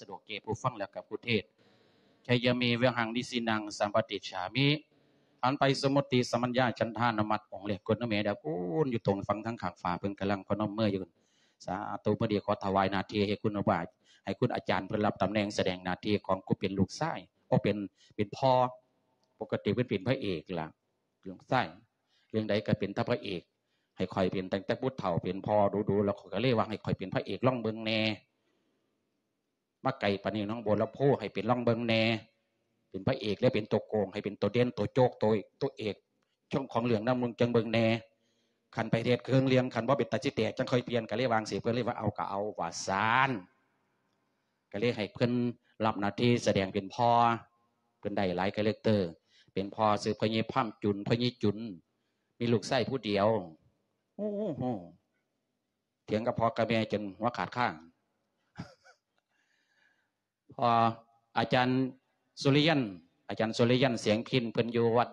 ສະດວກແກ່ຜູ້ຟັງ ແລະ ກັບຜູ້ເທດ. ໄຊຍະເມ ວະຫັງ ນິສິນັງ ສຳປະຕິດສາມິ. ຫັນໄປ ສົມມຸດຕິ ສຳປັນຍາ ຈັນທານຸມັດ ອົງແລກ ກົດນະແມ່ດາຄູນ ຢູ່ຕົງຝັ່ງທາງຂ້າງຂວາ ເພິ່ນກຳລັງພະນົມມືຢູ່. ສາທຸ. ມື້ນີ້ຂໍຖວາຍໜ້າທີ່ໃຫ້ຄຸນອາ ໃຫ້ຄຸນອາຈານເພິ່ນຮັບຕຳແໜ່ງສະແດງໜ້າທີ່ຂອງຜູ້ເປັນລູກຊາຍ ໂອ ເປັນ ເປັນພໍ່. ປົກກະຕິເພິ່ນເປັນພະເອກລະ ເລື່ອງຊາຍ ເລື່ອງໃດກໍເປັນແຕ່ພະເອກ. ໃຫ້ຂ້ອຍເປັນຕັ້ງແຕ່ຜູ້ເຖົ້າ ເປັນພໍ່ດູໆ ແລ້ວຂ້ອຍກໍເລີຍວ່າໃຫ້ຂ້ອຍເປັນພະເອກລອງເບິ່ງແດ່. ມາໄກປານນີ້ ໜອງບົວລຳພູ ໃຫ້ເປັນລອງເບິ່ງແດ່. ເປັນພະເອກແລ້ວເປັນຕົວໂກງ ໃຫ້ເປັນຕົວເດັ່ນ ຕົວໂຈກ ຕົວ ຕົວເອກ ຊ່ອງຂອງເລື່ອງນຳລຸງຈັ່ງເບິ່ງແດ່. ຄັນໄປເຮັດເຄື່ອງເລື່ອງ ຄັນບໍ່ເປັນຕາຊິແຕກ ຈັ່ງຄ່ອຍປ່ຽນ. ກໍເລີຍວ່າຈັ່ງຊີ້ ເພິ່ນເລີຍວ່າ ເອົາກໍເອົາວ່າຊັ້ນ. ກໍເລີຍໃຫ້ເພິ່ນຮັບໜ້າທີ່ສະແດງເປັນພໍ່. ເພິ່ນໄດ້ຫຼາຍຄາແຣັກເຕີ ເປັນພໍ່ຊື່ພໍ່ໃຫຍ່ພາມຈຸນ ພໍ່ໃຫຍ່ຈຸນ ມີລູກຊາຍຜູ້ດຽວ. ໂອ້ໂຫ ຖຽງກັບພໍ່ກັບແມ່ຈົນຫົວຂາດຄາ. ພໍ່ອາຈານສຸລິຍັນ ອາຈານສຸລິຍັນ ສຽງພິນ ເພິ່ນຢູ່ວັດ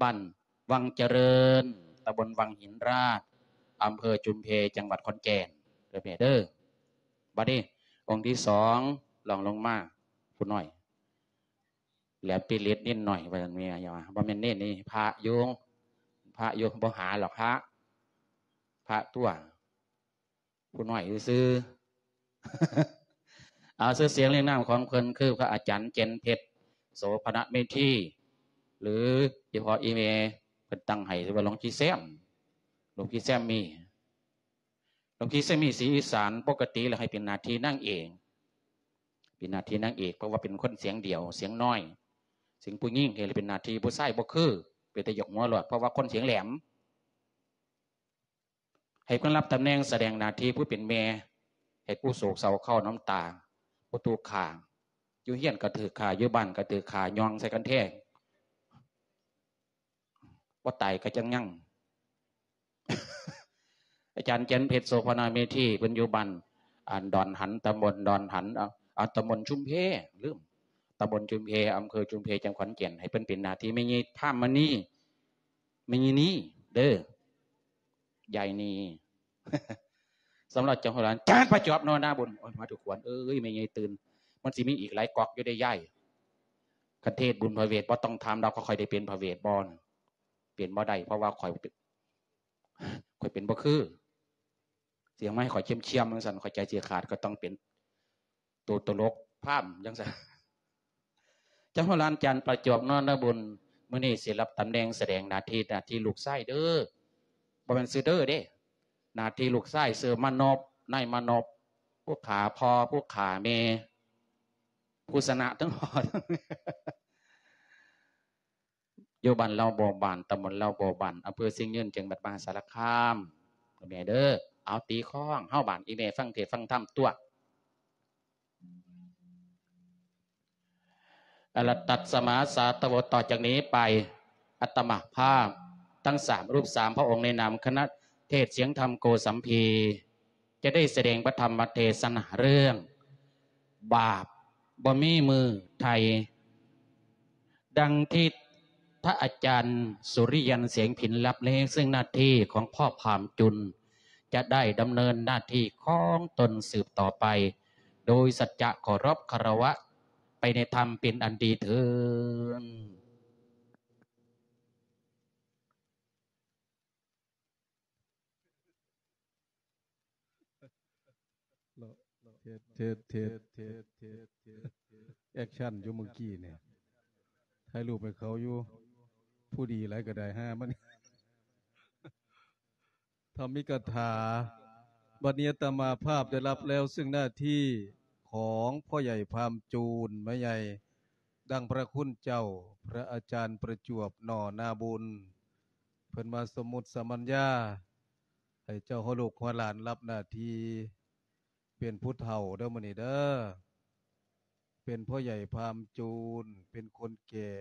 ບ້ານວັງຈະເລີນ ຕຳບົນວັງຫີນລາດ ອຳເພີຈຸມເພ ຈັງຫວັດຂອນແກ່ນ ເດີແມ່ເດີ. ບັດນີ້ອົງທີສອງ ລອງລົງມາ ຜູ້ນ້ອຍ ແຫຼມປີລິດນິດໜ້ອຍ ວ່າຊັ້ນແມ່. ຢ່າວ່າ ບໍ່ແມ່ນເນນນີ້ ພະຢູ່ ພະຢູ່ ບໍ່ຫາຫຼອກພະ ພະຕົວະ ຜູ້ນ້ອຍຊື່ໆ. ເອົາ ຊື່ສຽງລຽງນາມຂອງເພິ່ນຄືພະອາຈານເຈັນເພັດ ໂສພະນະເມທີ ຫຼື ອີພໍ່ອີແມ່ເພິ່ນຕັ້ງໃຫ້ ຊື່ວ່າຫຼວງພີ່ແຊມ ຫຼວງພີ່ແຊມມີ ຫຼວງພີ່ແຊມມີສີອີສານ. ປົກກະຕິແລ້ວໃຫ້ເປັນໜ້າທີ່ນາງເອກ ເປັນໜ້າທີ່ນາງເອກ ເພາະວ່າເປັນຄົນສຽງດຽວ ສຽງນ້ອຍ ສຽງຜູ້ຍິງ ເຮັດໃຫ້ເປັນໜ້າທີ່ຜູ້ຊາຍບໍ່ຄື ເປັນຕາຢາກຫົວໂລດ ເພາະວ່າຄົນສຽງແຫຼມ. ໃຫ້ເພິ່ນຮັບຕຳແໜ່ງສະແດງໜ້າທີ່ຜູ້ເປັນແມ່ ໃຫ້ຜູ້ໂສກເສົ້າເຄົ້ານ້ຳຕາ ຜູ້ຖືກຂ້າ ຢູ່ເຮືອນກໍຖືກຂ້າ ຢູ່ບ້ານກໍຖືກຂ້າ ຍ່ອງໃສ່ກັນແທ້ ບໍ່ຕາຍກໍຈັ່ງຍັງ. ອາຈານເຈັນເພັດ ໂສພະນາເມທີ ເພິ່ນຢູ່ບ້ານ ອັນ ດອນຫັນ ຕຳບົນດອນຫັນ ເອົາ ເອົາ ຕຳບົນຊຸມເພ ລືມ ຕຳບົນຊຸມເພ ອຳເພີຊຸມເພ ຈັງຫວັດຂອນແກ່ນ. ໃຫ້ເພິ່ນເປັນໜ້າທີ່ແມ່ໃຫຍ່ພາມມະນີ ແມ່ໃຫຍ່ນີເດີ ຍາຍນີ. ສຳລັບເຈົ້າຂອງຫຼານ ຈານປະຈວບ ນໍ ນາບຸນ. ໂອ້ຍ ມາທຸກຄົນເອີຍ ແມ່ໃຫຍ່ຕື່ນ ມັນຊິມີອີກຫຼາຍກອກຢູ່ເດ້ຍາຍ. ຄັນເທດບຸນພະເວດ ບໍ່ຕ້ອງຖາມດອກ ຂ້ອຍໄດ້ເປັນພະເວດບໍ່? ເປັນບໍ່ໄດ້ ເພາະວ່າຂ້ອຍ ຂ້ອຍເປັນບໍ່ຄື. ສຽງມາໃຫ້ຂ້ອຍຄຽມໆ ຈັ່ງຊັ້ນ ຂ້ອຍໃຈຊິຂາດ ກໍຕ້ອງເປັນໂຕຕະຫຼົກພາມຈັ່ງຊັ້ນ. ເຈົ້າຂອງຫຼານ ຈານປະຈວບ ນໍ ນາບຸນ ມື້ນີ້ຊິຮັບຕຳແໜ່ງສະແດງໜ້າທີ່ ໜ້າທີ່ລູກຊາຍເດີ ບໍ່ແມ່ນຊື່ເດີເດ້. ໜ້າທີ່ລູກຊາຍຊື່ມານົບ ນາຍມານົບ ຜູ້ຂ້າພໍ່ ຜູ້ຂ້າແມ່ ຜູ້ຊະນະທັງພໍ່ທັງແມ່. ຢູ່ບ້ານເລົ່າບໍ່ບານ ຕຳບົນເລົ່າບໍ່ບານ ອຳເພີຊຽງຍືນ ຈັງຫວັດມະຫາສາລະຄາມ ແມ່ເດີ. ເອົາ ຕີຄ້ອງເຮົາບາດ ອີແມ່ຟັງເທດຟັງທຳຕົວະ. ອະລະຕັດສະມາສາຕະໂວ ຕໍ່ຈາກນີ້ໄປ ອາດຕະມາພາບທັງສາມຮູບສາມພະອົງ ໃນນາມຄະນະເທດສຽງທຳໂກສຳພີ ຈະໄດ້ສະແດງພະທຳມະເທສະໜາເລື່ອງ ບາບບໍ່ມີມື້ໄຖ່ ດັ່ງທີ່ພະອາຈານສຸລິຍັນ ສຽງພິນ ລັບເລງເຊິ່ງໜ້າທີ່ຂອງພໍ່ພາມຈຸນ ຈະໄດ້ດຳເນີນໜ້າທີ່ຂອງຕົນສືບຕໍ່ໄປ ໂດຍສັດຈະເຄົາລົບຄາລະວະໄປໃນທຳເປັນອັນດີເທີ້ນ. ເທດ ເທດ ເທດ ເທດ ເທດ ແອັກຊັນຢູ່ເມື່ອກີ້ນີ້ ຖ່າຍຮູບໃຫ້ເຂົາຢູ່ ຜູ້ດີຫຼາຍກໍໄດ້ຫາມັນ. ທຳມິກະຖາ. ບັດນີ້ອາດຕະມາພາບໄດ້ຮັບແລ້ວເຊິ່ງໜ້າທີ່ຂອງພໍ່ໃຫຍ່ພາມຈູນ ແມ່ໃຫຍ່ ດັ່ງພະຄຸນເຈົ້າ ພະອາຈານປະຈວບ ໜໍ່ນາບຸນ ເພິ່ນມາສົມມຸດສະມັນຍາ ໃຫ້ເຈົ້າຫົວລູກຫົວຫຼານຮັບໜ້າທີ່ເປັນຜູ້ເຖົ້າເດີ ມື້ນີ້ເດີ ເປັນພໍ່ໃຫຍ່ພາມຈູນ ເປັນຄົນແກ່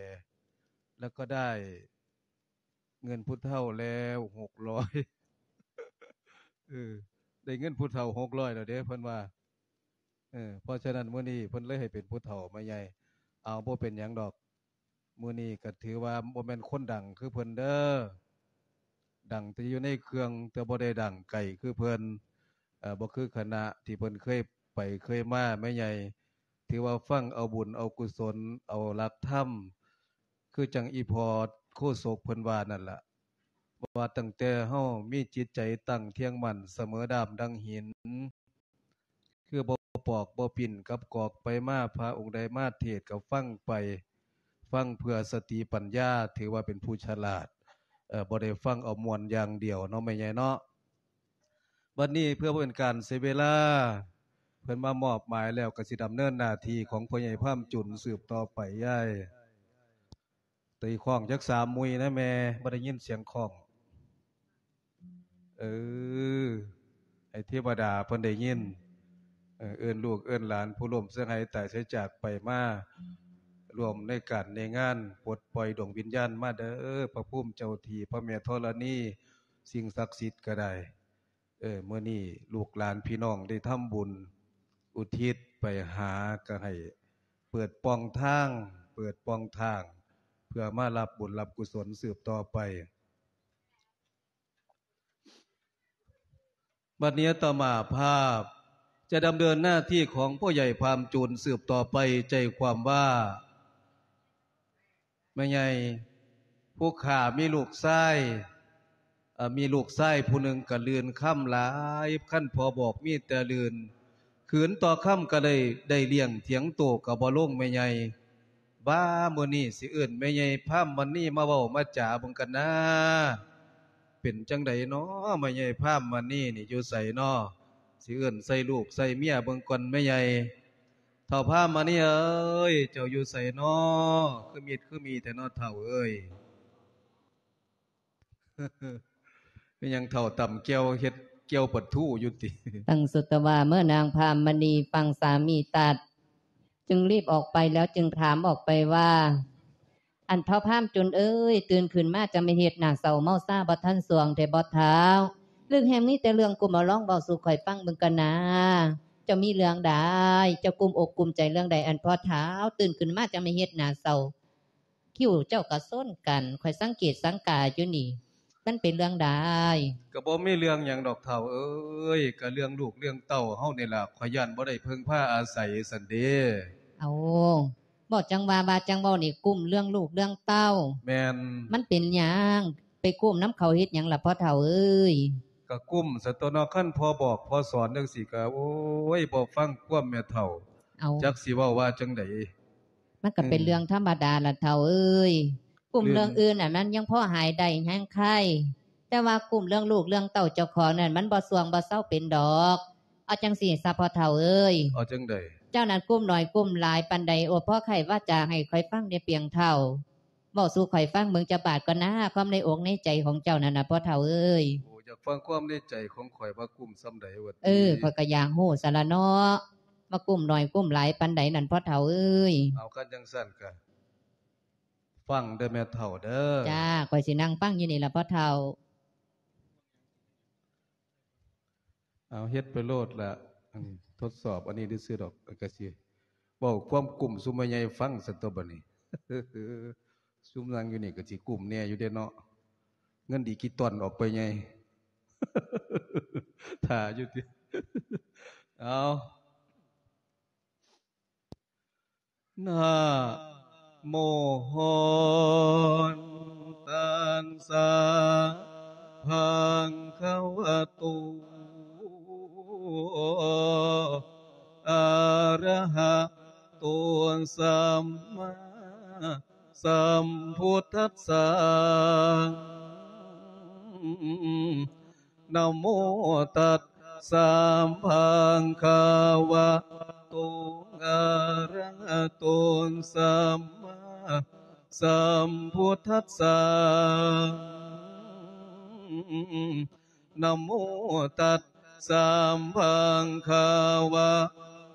ແລ້ວກໍໄດ້ເງິນຜູ້ເຖົ້າແລ້ວຫົກຮ້ອຍ ເອີ ໄດ້ເງິນຜູ້ເຖົ້າຫົກຮ້ອຍແລ້ວເດ້ ເພິ່ນວ່າ. ເອີ ເພາະສະນັ້ນມື້ນີ້ເພິ່ນເລີຍໃຫ້ເປັນຜູ້ເຖົ້າມາໃຫຍ່. ເອົາ ບໍ່ເປັນຫຍັງດອກ ມື້ນີ້ກໍຖືວ່າບໍ່ແມ່ນຄົນດັງຄືເພິ່ນເດີ ດັງແຕ່ຢູ່ໃນເຄື່ອງ ແຕ່ບໍ່ໄດ້ດັງໄກຄືເພິ່ນ ເອີ ບໍ່ຄືຄະນະທີ່ເພິ່ນເຄີຍໄປເຄີຍມາ ແມ່ໃຫຍ່ ຖືວ່າຟັງເອົາບຸນເອົາກຸສົນ ເອົາຫຼັກທຳ ຄືຈັ່ງອີ່ພໍ່ໂຄສົກເພິ່ນວ່ານັ້ນລະ ວ່າຕັ້ງແຕ່ເຮົາມີຈິດໃຈຕັ້ງທ່ຽງໝັ້ນສະເໝີດາມດັ່ງຫີນ ຄືບໍ່ປອກບໍ່ປິ່ນກັບກອກໄປມາ ພະອົງໃດມາເທດກໍຟັງໄປ ຟັງເພື່ອສະຕິປັນຍາ ຖືວ່າເປັນຜູ້ສະຫຼາດ ເອີ ບໍ່ໄດ້ຟັງເອົາມ່ວນຢ່າງດຽວເນາະ ແມ່ໃຫຍ່ເນາະ. ບັດນີ້ເພື່ອບໍ່ເປັນການເສຍເວລາ ເພິ່ນມາມອບໝາຍແລ້ວ ກໍຊິດຳເນີນໜ້າທີ່ຂອງພໍ່ໃຫຍ່ພາມຈຸນສືບຕໍ່ໄປ. ຍາຍ ຕີຄ້ອງຈັກສາມມຸ້ຍນະແມ່ ບໍ່ໄດ້ຍິນສຽງຄ້ອງ. ເອີ ໃຫ້ເທວະດາເພິ່ນໄດ້ຍິນ. ເອີ ເອີ້ນລູກເອີ້ນຫຼານ ຜູ້ລ້ມເສຍຫາຍຕາຍເສຍຈາກໄປມາ ຮ່ວມໃນການໃນງານປົດປ່ອຍດວງວິນຍານມາເດີ ພະພູມເຈົ້າທີ່ ພະແມ່ທໍລະນີ ສິ່ງສັກສິດກໍໄດ້. ເອີ ມື້ນີ້ລູກຫຼານພີ່ນ້ອງໄດ້ທຳບຸນອຸທິດໄປຫາ ກໍໃຫ້ເປີດປ່ອງທາງ ເປີດປ່ອງທາງ ເພື່ອມາຮັບບຸນຮັບກຸສົນສືບຕໍ່ໄປ. ບັດນີ້ອາດຕະມາພາບຈະດຳເນີນໜ້າທີ່ຂອງພໍ່ໃຫຍ່ພາມຈູນສືບຕໍ່ໄປ ໃຈຄວາມວ່າ ແມ່ໃຫຍ່ ຜູ້ຂ້າມີລູກຊາຍ ເອີ ມີລູກຊາຍຜູ້ໜຶ່ງກະລື່ນຄຳຫຼາຍ ຄັນພໍ່ບອກມີແຕ່ລື່ນ ຄືນຕໍ່ຄຳກະໄດ້ ໄດ້ລ້ຽງຖຽງໂຕກະບໍ່ລົງແມ່ໃຫຍ່. ບາ ມື້ນີ້ຊິເອີ້ນແມ່ໃຫຍ່ພາມມະນີມາເວົ້າມາຈາເບິ່ງກັນນາ ເປັນຈັ່ງໃດນໍ ແມ່ໃຫຍ່ພາມມະນີນີ້ຢູ່ໃສນໍ ຊິເອີ້ນໃສ່ລູກໃສ່ເມຍເບິ່ງກ່ອນແມ່ໃຫຍ່. ທ້າວພາມມະນີເອີຍ ເຈົ້າຢູ່ໃສນໍ ຄືມິດຄືມີແທ້ນໍທ້າວເອີຍ. ແມ່ນຫຍັງທ້າວຕຳແຈ່ວເຮັດແຈ່ວປາທູຢູ່ຕິ? ຕັງສຸດຕະວາເມື່ອນາງພາມມະນີຟັງສາມີຕັດ ຈຶ່ງລີບອອກໄປແລ້ວຈຶ່ງຖາມອອກໄປວ່າ ອັນທ້າວພາມຈຸນເອີຍ ຕື່ນຂຶ້ນມາຈະມາເຮັດໜ້າເສົ້າເມົາຊາບໍ່ທັນສວງແທ້ບໍ່ທ້າວ? ລຶກແຮ່ງມີແຕ່ເລື່ອງກຸ້ມ ເອົາລອງເວົ້າສູ່ຂ້ອຍຟັງເບິ່ງກະນາ ເຈົ້າມີເລື່ອງໃດ? ເຈົ້າກຸ້ມອົກກຸ້ມໃຈເລື່ອງໃດ ອັນພໍ່ທ້າວຕື່ນຂຶ້ນມາຈະມາເຮັດໜ້າເສົ້າ? ຄິ້ວເຈົ້າກະຊົນກັນ ຂ້ອຍສັງເກດສັງກາຢູ່ນີ້ ມັນເປັນເລື່ອງໃດ? ກະບໍ່ມີເລື່ອງຫຍັງດອກທ້າວເອີຍ ກະເລື່ອງລູກເລື່ອງເຕົ້າເຮົານີ້ລະ ຂ້ອຍຢ້ານບໍ່ໄດ້ເພິ່ງພາອາໄສຊັ້ນເດ. ເອົາ ເວົ້າຈັ່ງວ່າ ວ່າຈັ່ງເວົ້ານີ້ ກຸ້ມເລື່ອງລູກເລື່ອງເຕົ້າ. ແມ່ນ. ມັນເປັນຫຍັງ? ໄປກຸ້ມນຳເຂົາເຮັດຫຍັງລະພໍ່ເຖົ້າເອີຍ? ກະກຸ້ມຊັ້ນຕົວະເນາະ ຄັນພໍ່ບອກພໍ່ສອນຈັ່ງຊີ້ກະ ໂອ້ຍ ບໍ່ຟັງຄວາມແມ່ເຖົ້າ. ເອົາ ຈັກຊິເວົ້າວ່າຈັ່ງໃດ. ມັນກະເປັນເລື່ອງທຳມະດາລະເຖົ້າເອີຍ. ກຸ້ມເລື່ອງອື່ນຫັ້ນມັນຍັງພໍຫາຍໄດ້ແຮງໄຄ ແຕ່ວ່າກຸ້ມເລື່ອງລູກເລື່ອງເຕົ້າເຈົ້າຂອງນັ້ນ ມັນບໍ່ຊ່ວງບໍ່ເຊົາເປັນດອກ. ເອົາຈັ່ງຊີ້ຊະພໍ່ເຖົ້າເອີຍ. ເອົາຈັ່ງໃດ? ເຈົ້ານັ້ນກຸ້ມໜ້ອຍກຸ້ມຫຼາຍປານໃດ? ໂອ ພໍໄຂວາຈາໃຫ້ຂ້ອຍຟັງແດ່ປຽງເຖົ້າ. ເວົ້າສູ່ຂ້ອຍຟັງເບິ່ງຈັກບາດກ່ອນນາ ຄວາມໃນອົກໃນໃຈຂອງເຈົ້ານັ້ນນະພໍ່ເຖົ້າເອີຍ. ໂອ ຢາກຟັງຄວາມໃນໃຈຂອງຂ້ອຍວ່າກຸ້ມສ່ຳໃດວ່າຕິ? ເອີ ຂ້ອຍກະຢາກຮູ້ຊັ້ນລະເນາະ ວ່າກຸ້ມໜ້ອຍກຸ້ມຫຼາຍປານໃດນັ້ນພໍ່ເຖົ້າເອີຍ. ເອົາ ຄັນຈັ່ງຊັ້ນກະ ຟັງເດີແມ່ເຖົ້າເດີ. ຈ້າ ຂ້ອຍຊິນັ່ງຟັງຢູ່ນີ້ລະພໍ່ເຖົ້າ. ເອົາ ເຮັດໄປໂລດລະ ອັນນີ້ທົດສອບອັນນີ້ຊື່ໆດອກ ກະຊິເວົ້າຄວາມກຸ້ມສູ່ແມ່ໃຫຍ່ຟັງຊັ້ນຕົວະບາດນີ້. ຊຸມນັ່ງຢູ່ນີ້ກະຊິກຸ້ມແດ່ຢູ່ເດເນາະ ເງິນດິຈິຕອນອອກໄປໃຫຍ່ ຖ້າຢູ່ຕິ. ເອົາ ນະໂມຫົນຕັດສະ ພະຄະວະໂຕ ອະຣະຫະໂຕ ສຳມາສຳພຸດທັດສະ. ນະໂມຕັດສະ ພະຄະວະໂຕ ອະຣະຫະໂຕ ສຳມາສຳພຸດທັດສະ. ນະໂມຕັດສະ ພະຄະວະ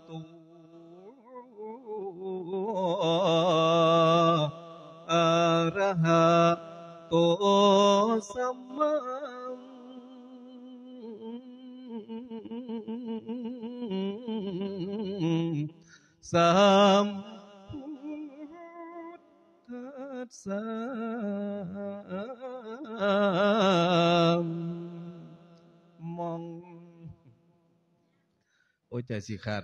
ໂຕ ອະຣະຫະໂຕ ສຳມາສຳພຸດທັດສະ. ໂອ້ຍ ໃຈຊິຂາດ.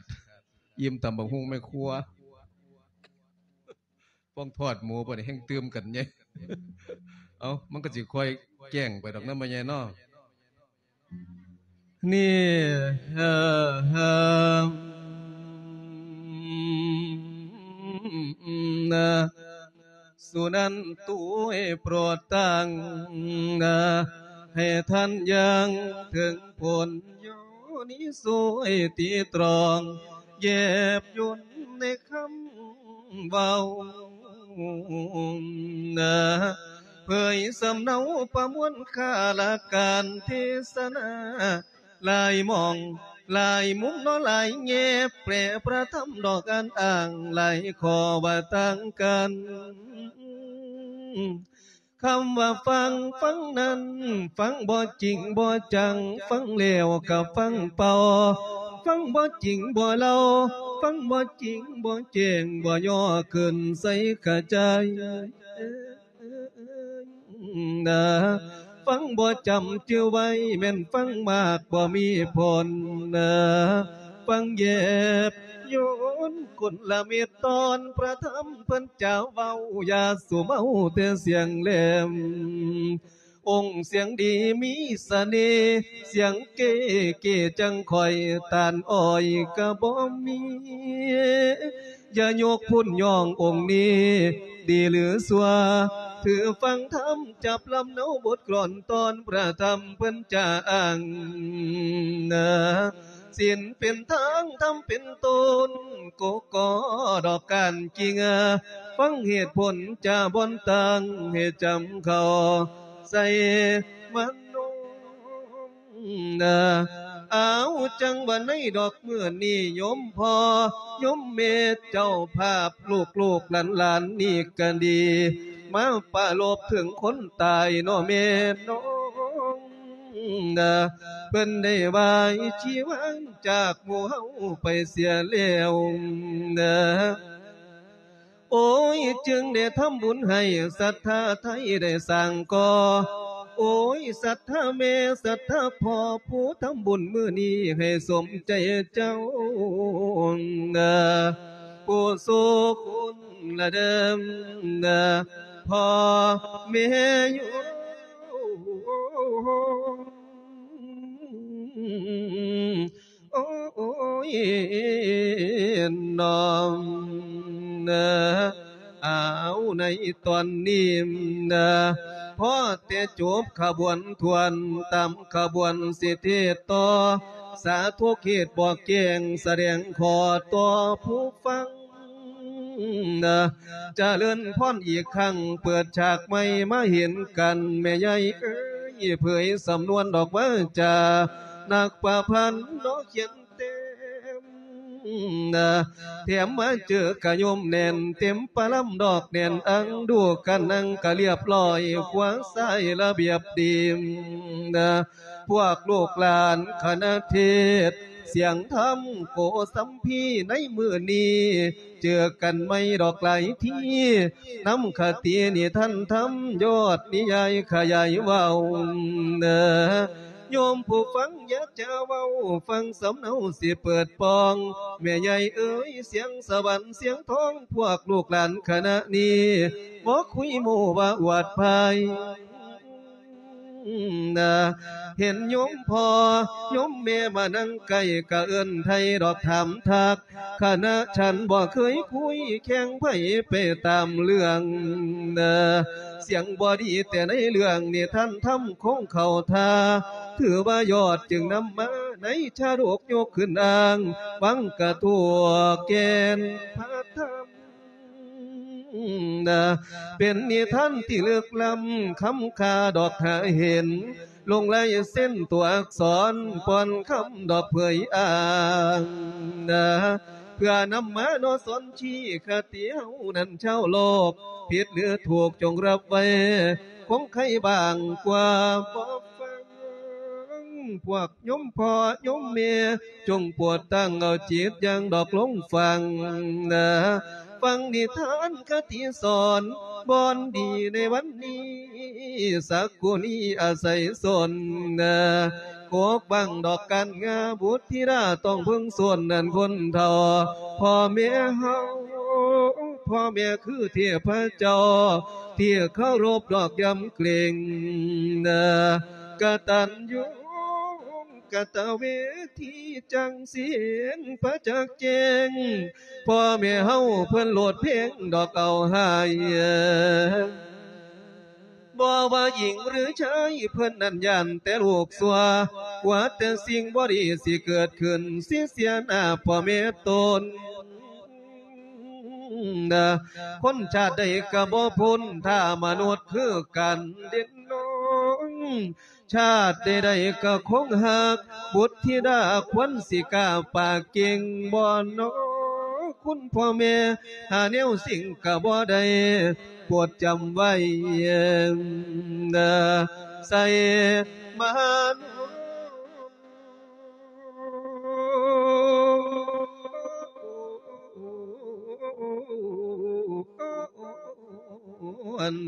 ອີ່ມຕຳບັກຫຸ່ງແມ່ຄົວ ປ້ອງທອດໝູ ບັດນີ້ແຮ່ງຕື່ມກັນໃຫຍ່ ເອົ້າ ມັນກໍຊິຄ່ອຍແຈ້ງໄປດອກນະ ແມ່ໃຫຍ່ເນາະ. ນີ້ ເອີ ເອີ ນະ ສຸນັນຕຸ ໂປດຕັ້ງນະ ໃຫ້ທ່ານຢ່າງເຖິງຜົນ ໂຍນິໂສ ໃຫ້ຕີຕຣອງ ແຍບຍົນໃນຄຳເວົ້ານະ ເຜີຍສຳເນົາປະມວນຄາລະການເທສະນາ ຫຼາຍໝ່ອງຫຼາຍມຸມເນາະ ຫຼາຍແງ່ ແປລະທຳດອກອັນອ້າງ ຫຼາຍຂໍ້ວ່າຕ່າງກັນ. ຄຳວ່າຟັງ ຟັງນັ້ນ ຟັງບໍ່ຈິງບໍ່ຈັງ ຟັງແລ້ວກໍຟັງເປົ່າ ຟັງບໍ່ຈິງບໍ່ເຫຼົ່າ ຟັງບໍ່ຈິງບໍ່ແຈ້ງ ບໍ່ຍໍຂຶ້ນໃສ່ຂະຈາຍ ນະ ຟັງບໍ່ຈຳຈື່ໄວ້ ແມ່ນຟັງມາກບໍ່ມີຜົນນະ ຟັງແຍບຍົນຄົນລະເມັດຕອນ ພະທຳເພິ່ນຈະເວົ້າ ຢ່າສູ່ເມົາແຕ່ສຽງແຫຼມ ອົງສຽງດີມີສະເໜ່ ສຽງເກ້ເກ້ຈັ່ງຂ້ອຍ ຕານອ້ອຍກະບໍ່ມີ ຢ່າຍົກພຸ້ນຍ້ອງອົງນີ້ ດີຫຼືຊົ່ວ ຖືຟັງທຳຈັບລຳເນົາບົດກລອນຕອນ ພະທຳເພິ່ນຈະອ້າງນະ ສິນເປັນທາງ ທຳເປັນຕົ້ນ ກໍກໍດອກການກິງ ຟັງເຫດຜົນຈາບ່ອນຕັ້ງ ໃຫ້ຈຳເຂົ້າໃສ່ມະໂນ ນະ ເອົາ ຈັ່ງວ່າໃນດອກມື້ນີ້ ໂຍມພໍ່ໂຍມແມ່ເຈົ້າພາບ ລູກໆຫຼານໆນີ້ກະດີ ມາປາລົບເຖິງຄົນຕາຍເນາະແມ່ນ້ອງນະ ເພິ່ນໄດ້ວາຍຊີວາງຈາກໝູ່ເຮົາໄປເສຍແລ້ວນະ. ໂອ້ຍ ຈຶ່ງໄດ້ທຳບຸນໃຫ້ ສັດທາໄທໄດ້ສ້າງກໍ່ ໂອ້ຍ ສັດທາແມ່ ສັດທາພໍ່ ຜູ້ທຳບຸນມື້ນີ້ໃຫ້ສົມໃຈເຈົ້ານະ ຜູ້ສູ່ຄຸນລະເດີມນະ ພໍ່ແມ່ໂຍມ ໂອ້ຍ ນ້ອງເອີ ເອົາ ໃນຕອນນີ້ນະ ພໍແຕ່ຈົບຂະບວນຖ້ວນ ຕາມຂະບວນສິເທດຕໍ່ ສາທຸເທດບອກແຈ້ງ ສະແດງຂໍຕໍ່ຜູ້ຟັງ ນະ ຈະເລີນພອນອີກຄັ້ງ ເປີດສາກໃໝ່ມາເຫັນກັນ ແມ່ໃຫຍ່ເອີຍ ເຜີຍສຳນວນດອກວາຈາ ນັກປະພັນເນາະຂຽນແຕ້ມ ນະ ແຖມມາເຈີກະໂຍມແໜ້ນ ເຕັມປະລຳດອກແໜ້ນອັງ ດູກະນັ່ງກະລຽບຮ້ອຍ ຂວາຊ້າຍລະບຽບດີ ນະ ພວກລູກຫຼານຄະນະເທດ ສຽງທຳໂກສຳພີ ໃນມື້ນີ້ ເຈີກັນໃໝ່ດອກຫຼາຍທີ ນຳຄະຕິນິທານທຳ ຍອດນິຍາຍຂະຫຍາຍເວົ້າເນີ ໂຍມຜູ້ຟັງຢ່າຈະເວົ້າ ຟັງສຳເນົາຊິເປີດປ່ອງ ແມ່ໃຫຍ່ເອີຍ ສຽງສະຫວັນສຽງທອງ ພວກລູກຫຼານຄະນະນີ້ ບໍ່ຄຸຍໂມ້ວ່າອວດພາຍ ນະ ເຫັນໂຍມພໍ່ໂຍມແມ່ມານັ່ງໃກ້ ກະເອີ້ນໄຖ່ດອກຖາມທັກ ຄະນະສັນບໍ່ເຄີຍຄຸຍແຂ່ງໃຜໄປຕາມເລື່ອງ ນະ ສຽງບໍ່ດີແຕ່ໃນເລື່ອງນິທານທຳຄົງເຂົ້າທ່າ ຖືວ່າຍອດຈຶ່ງນຳມາໃນຊາດົກຍົກຂຶ້ນອ້າງ ວັງກະທົວແກ່ນພະທຳ ນະ ເປັນນິທານທີ່ເລິກລ້ຳ ຄຳຄ່າດອກຫາເຫັນ ລົງລາຍເຊັນຕົວອັກສອນ ປ່ອນຄຳດອກເຜີຍອ້າງ ນະ ເພື່ອນຳມາເນາະສອນຊີ້ຄະຕິເຮົານັ້ນຊາວໂລກ ຜິດຫຼືຖືກຈົ່ງຮັບໄວ້ ຄົງໃຄບາງກວ່າບໍ່ຟັງ ພວກໂຍມພໍ່ໂຍມແມ່ ຈົ່ງໂປດຕັ້ງເອົາຈິດຢ່າງດອກລົງຟັງນະ ຟັງນິທານຄະຕິສອນ ບ່ອນດີໃນວັນນີ້ ສັກກຸນີອາໄສສົນນະ ປົກບັງດອກການງາ ບຸດທິດາຕ້ອງເພິ່ງໂຊນນັ້ນຄົນເຖົ້າ. ພໍ່ແມ່ເຮົາ ພໍ່ແມ່ຄືເທບພະເຈົ້າ ທີ່ເຄົາລົບດອກຢຳເກງ ກະຕັນຍູກະຕະເວທີ ຈັ່ງຊິເຫັນປະຈັກແຈ້ງ. ພໍ່ແມ່ເຮົາເພິ່ນໂລດເພງດອກເອົາໃຫ້ ບໍ່ວ່າຍິງຫຼືຊາຍ ເພິ່ນນັ້ນຢ້ານແຕ່ລູກຊົ່ວ ກລັວແຕ່ສິ່ງບໍ່ດີຊິເກີດຂຶ້ນ ຊິເສຍໜ້າພໍ່ແມ່ຕົນ. ຄົນຊາດໃດກະບໍ່ພົ້ນ ຖ້າມະນຸດຄືກັນເດັ່ນນ້ອງ ຊາດໃດໆກະຄົງຮັກ ບຸດທິດາຄວນຊິກ້າປາກເກັ່ງ ບໍ່ນໍ ຄຸນພໍ່ແມ່ ຫາແນວສິ່ງກະບໍ່ໄດ້ ໂປດຈຳໄວ້ ໃສ່ມານ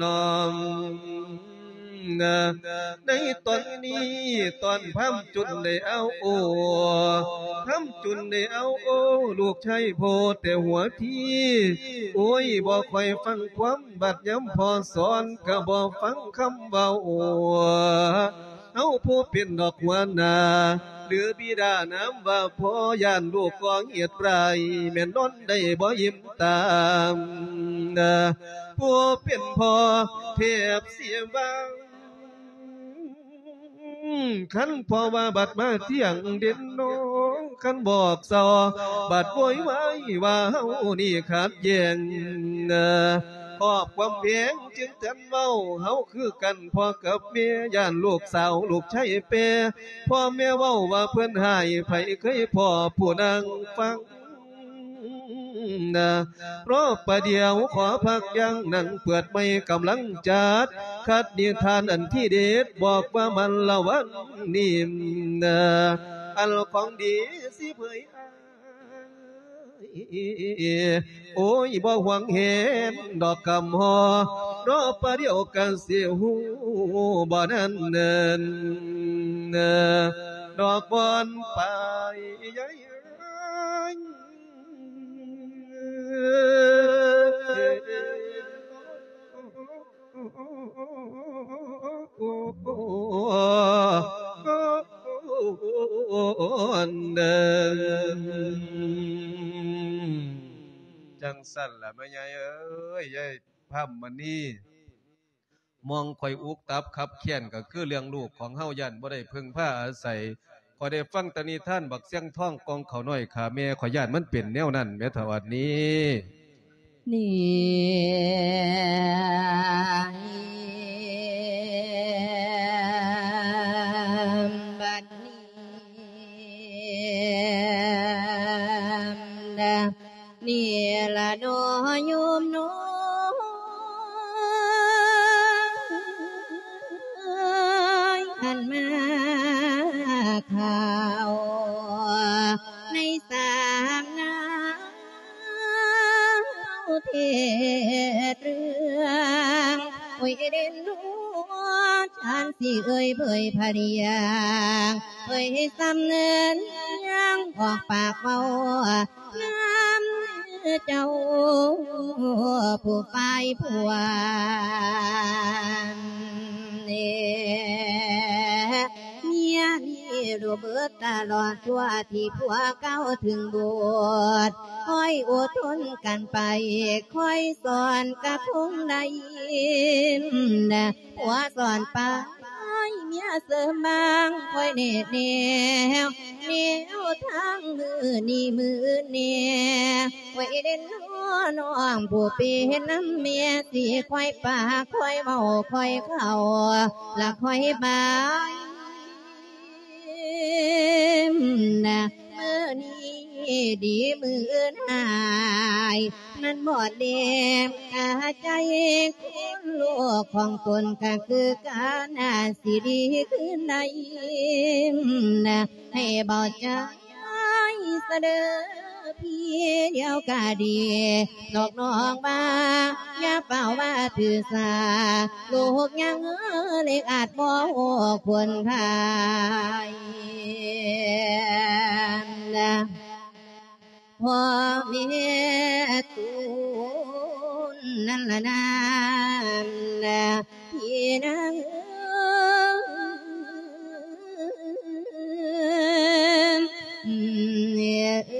ນ້ອມ ໃນຕອນນີ້ ຕອນພາມຈຸນໄດ້ເອົາໂອ ພາມຈຸນໄດ້ເອົາໂອ ລູກຊາຍພໍ່ແຕ່ຫົວທີ ໂອ້ຍ ບໍ່ຄ່ອຍຟັງຄວາມ ບັດຍາມພໍ່ສອນ ກະບໍ່ຟັງຄຳເວົ້າ. ເຮົາຜູ້ເປັນດອກຫົວໜ້າ ຫຼືບິດານາມວ່າພໍ່ ຢ້ານລູກກໍ່ເຫດຮ້າຍ ແມ່ນນອນໄດ້ບໍ່ອີ່ມຕາ. ຜູ້ເປັນພໍ່ແທບຊິວ່າ ຄັນພໍ່ວ່າບັດມາທຽງເດັ່ນນ້ອງ ຄັນບອກເຊົາ ບັດໂວຍວາຍວ່າເຮົານີ້ຂັດແຍ່ງ ຄອບຄວາມແພງຈຶ່ງທັນເວົ້າ ເຮົາຄືກັນພໍ່ກັບແມ່ ຢ້ານລູກສາວລູກຊາຍແປ ພໍ່ແມ່ເວົ້າວ່າເພິ່ນຮ້າຍ ໃຜເຄີຍພໍ້ຜູ້ນາງຟັງ ລໍປະດຽວຂໍພັກຢ່າງ ນັ່ງເປີດໃໝ່ກຳລັງຈັດ ຄັດນິທານອັນທີເດັດ ບອກວ່າມັນລະວັນນີ້ ອັນຂອງດີຊິເຜີຍ ໂອ້ຍ ບໍ່ຫວງແຫນດອກຄຳຮໍ ລໍປະດຽວກະຊິຮູ້ ບໍ່ນັ້ນເນີນ ດອກບ່ອນໄປ ຈັ່ງຊັ້ນລະແມ່ໃຫຍ່ເອີຍ ຍາຍພາມມະນີ ມອງຂ້ອຍອຸກຕັບຄັບແຄ້ນ ກະຄືເລື່ອງລູກຂອງເຮົາ ຢ້ານບໍ່ໄດ້ເພິ່ງພາອາໄສ. ຂ້ອຍໄດ້ຟັງແຕ່ນິທານບັກຊຽງທອງກ່ອງເຂົ້ານ້ອຍຂ້າແມ່ ຂ້ອຍຢ້ານມັນເປັນແນວນັ້ນແໝ່ເຖົ້າອັນນີ້. ນີ້ ບັດນີ້ ນີ້ລະເນາະໂຍມເນາະ ອັນມາຂ່າວໃນສາມນາວເທດເລື່ອງ ໂອ້ຍເດັ່ນນວນ ທ່ານຊິເອີຍເຜີຍພະເດຍງ ເຜີຍຊ່ຳເນີນຍາງ ອອກປາກເວົ້າ ນຳເຈົ້າຜູ້ຝ່າຍຜົວ ເມຍນີ້ຮູ້ເບິດຕະຫຼອດ ຊົ່ວທີ່ຜົວເກົ່າເຖິງບູດ ຄອຍອົດທົນກັນໄປ ຄອຍສອນກະຄົງໄດ້ນະ ຜົວສອນໄປ ເມຍເສີມບາງ ຄອຍແນະແນວ ແນວທາງມື້ນີ້ມື້ແນ່ ໄວ້ເດັ່ນນ້ອງຜູ້ເປັນນຳແມ່ ຊິຄອຍປາກ ຄອຍເວົ້າ ຄອຍເຂົ້າ ລະຄອຍບາຍ ນະ ມື້ນີ້ດີມື້ອື່ນຫາຍ ນັ້ນໝົດແນມຄາໃຈ ຄົນລູກຂອງຕົນກະຄືກັນ ຊິດີຄືໃດ ໃຫ້ເບົາໃຈສະເດີ ທີ່ດຽວກະດີ ນອກນ້ອງວ່າ ຢ່າຟ້າວວ່າຖືສາ ລູກຍັງເລັກອາດບໍ່ຮູ້ຄຸນຄ່າ ພໍ່ແມ່ຕູນນັ້ນລະນາ ພີ່ນາງເອີຍ.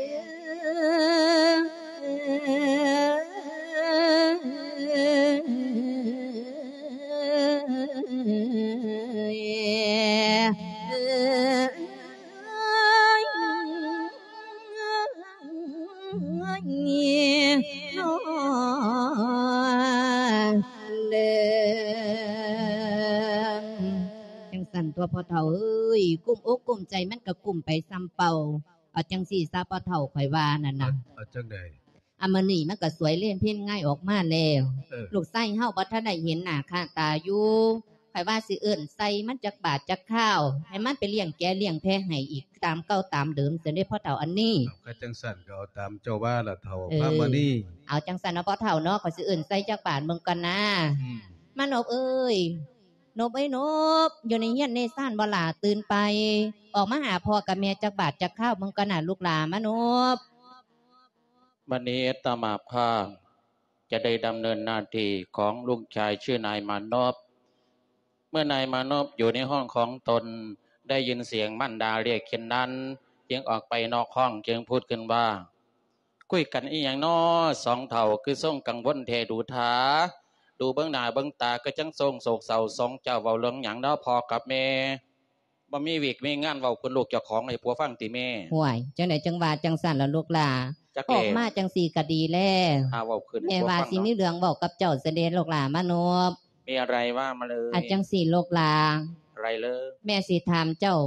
ຈັ່ງຊັ້ນຕົວະພໍ່ເຖົ້າເອີຍ ກຸ້ມອົກກຸ້ມໃຈມັນກະກຸ້ມໄປສ່ຳເປົ່າ. ເອົາຈັ່ງຊີ້ຊະພໍ່ເຖົ້າ ຂ້ອຍວ່ານັ້ນນະ. ເອົາ ເອົາຈັ່ງໃດ? ອາ ມື້ນີ້ມັນກະສວຍເລນເພັນງາຍອອກມາແລ້ວ ເອີ ລູກຊາຍເຮົາບໍ່ທັນໄດ້ເຫັນໜ້າຄ່າຕາຢູ່ ຂ້ອຍວ່າຊິເອີ້ນໃສ່ມັນຈັກບາດຈັກຄາວ ໃຫ້ມັນໄປລ້ຽງແກະລ້ຽງແພະໃຫ້ອີກຕາມເກົ່າຕາມເດີມຊັ້ນເດ້ພໍ່ເຖົ້າອັນນີ້. ເອົາ ຄັນຈັ່ງຊັ້ນກະເອົາຕາມເຈົ້າວ່າລະເຖົ້າ ເອີ ພາມະນີ. ເອົາຈັ່ງຊັ້ນເນາະພໍ່ເຖົ້າເນາະ ຂ້ອຍຊິເອີ້ນໃສ່ຈັກບາດເບິ່ງກ່ອນນາ. ອືມ ມານົບເອີຍ ນົບເອີຍນົບ ຢູ່ໃນເຮືອນໃນຊານບໍ່ຫຼ້າ? ຕື່ນໄປ ອອກມາຫາພໍ່ກັບແມ່ຈັກບາດຈັກຄາວເບິ່ງກ່ອນນາລູກຫຼ້າ ມານົບ. ບັດນີ້ອາດຕະມາພາບຈະໄດ້ດຳເນີນໜ້າທີ່ຂອງລູກຊາຍຊື່ນາຍມານົບ. ເມື່ອນາຍມານົບຢູ່ໃນຫ້ອງຂອງຕົນ ໄດ້ຍິນສຽງມານດາຮຽກເຊັ່ນນັ້ນ ຈຶ່ງອອກໄປນອກຫ້ອງ ຈຶ່ງພູດຂຶ້ນວ່າ ຄຸຍກັນອີ່ຫຍັງນໍ ສອງເຖົ້າ ຄືຊົງກັງວົນແທ້ດູຖາ ດູເບິ່ງໜ້າເບິ່ງຕາຄືຈັ່ງຊົງໂສກເສົ້າ ສອງເຈົ້າເວົ້າເລື່ອງຫຍັງນໍພໍ່ກັບແມ່? ບໍ່ມີວຽກມີງານເວົ້າເພິ່ນລູກເຈົ້າຂອງໃຫ້ຜົວຟັງຕິແມ່? ຫ້ວຍ ຈັ່ງໃດຈັ່ງວ່າຈັ່ງຊັ້ນລະລູກຫຼ້າ? ອອກມາຈັ່ງຊີ້ກະດີແລ້ວ ຫາເວົ້າຂຶ້ນ ແມ່ວ່າຊິມີເລື່ອງເວົ້າກັບເຈົ້າຊັ້ນເດລູກຫຼ້າມານົບ. ມີອະໄລວ່າມາເລີຍ. ອາ ຈັ່ງຊີ້ລູກຫຼ້າ ອະໄລເລີຍ? ແມ່ຊິຖາມເຈົ້າ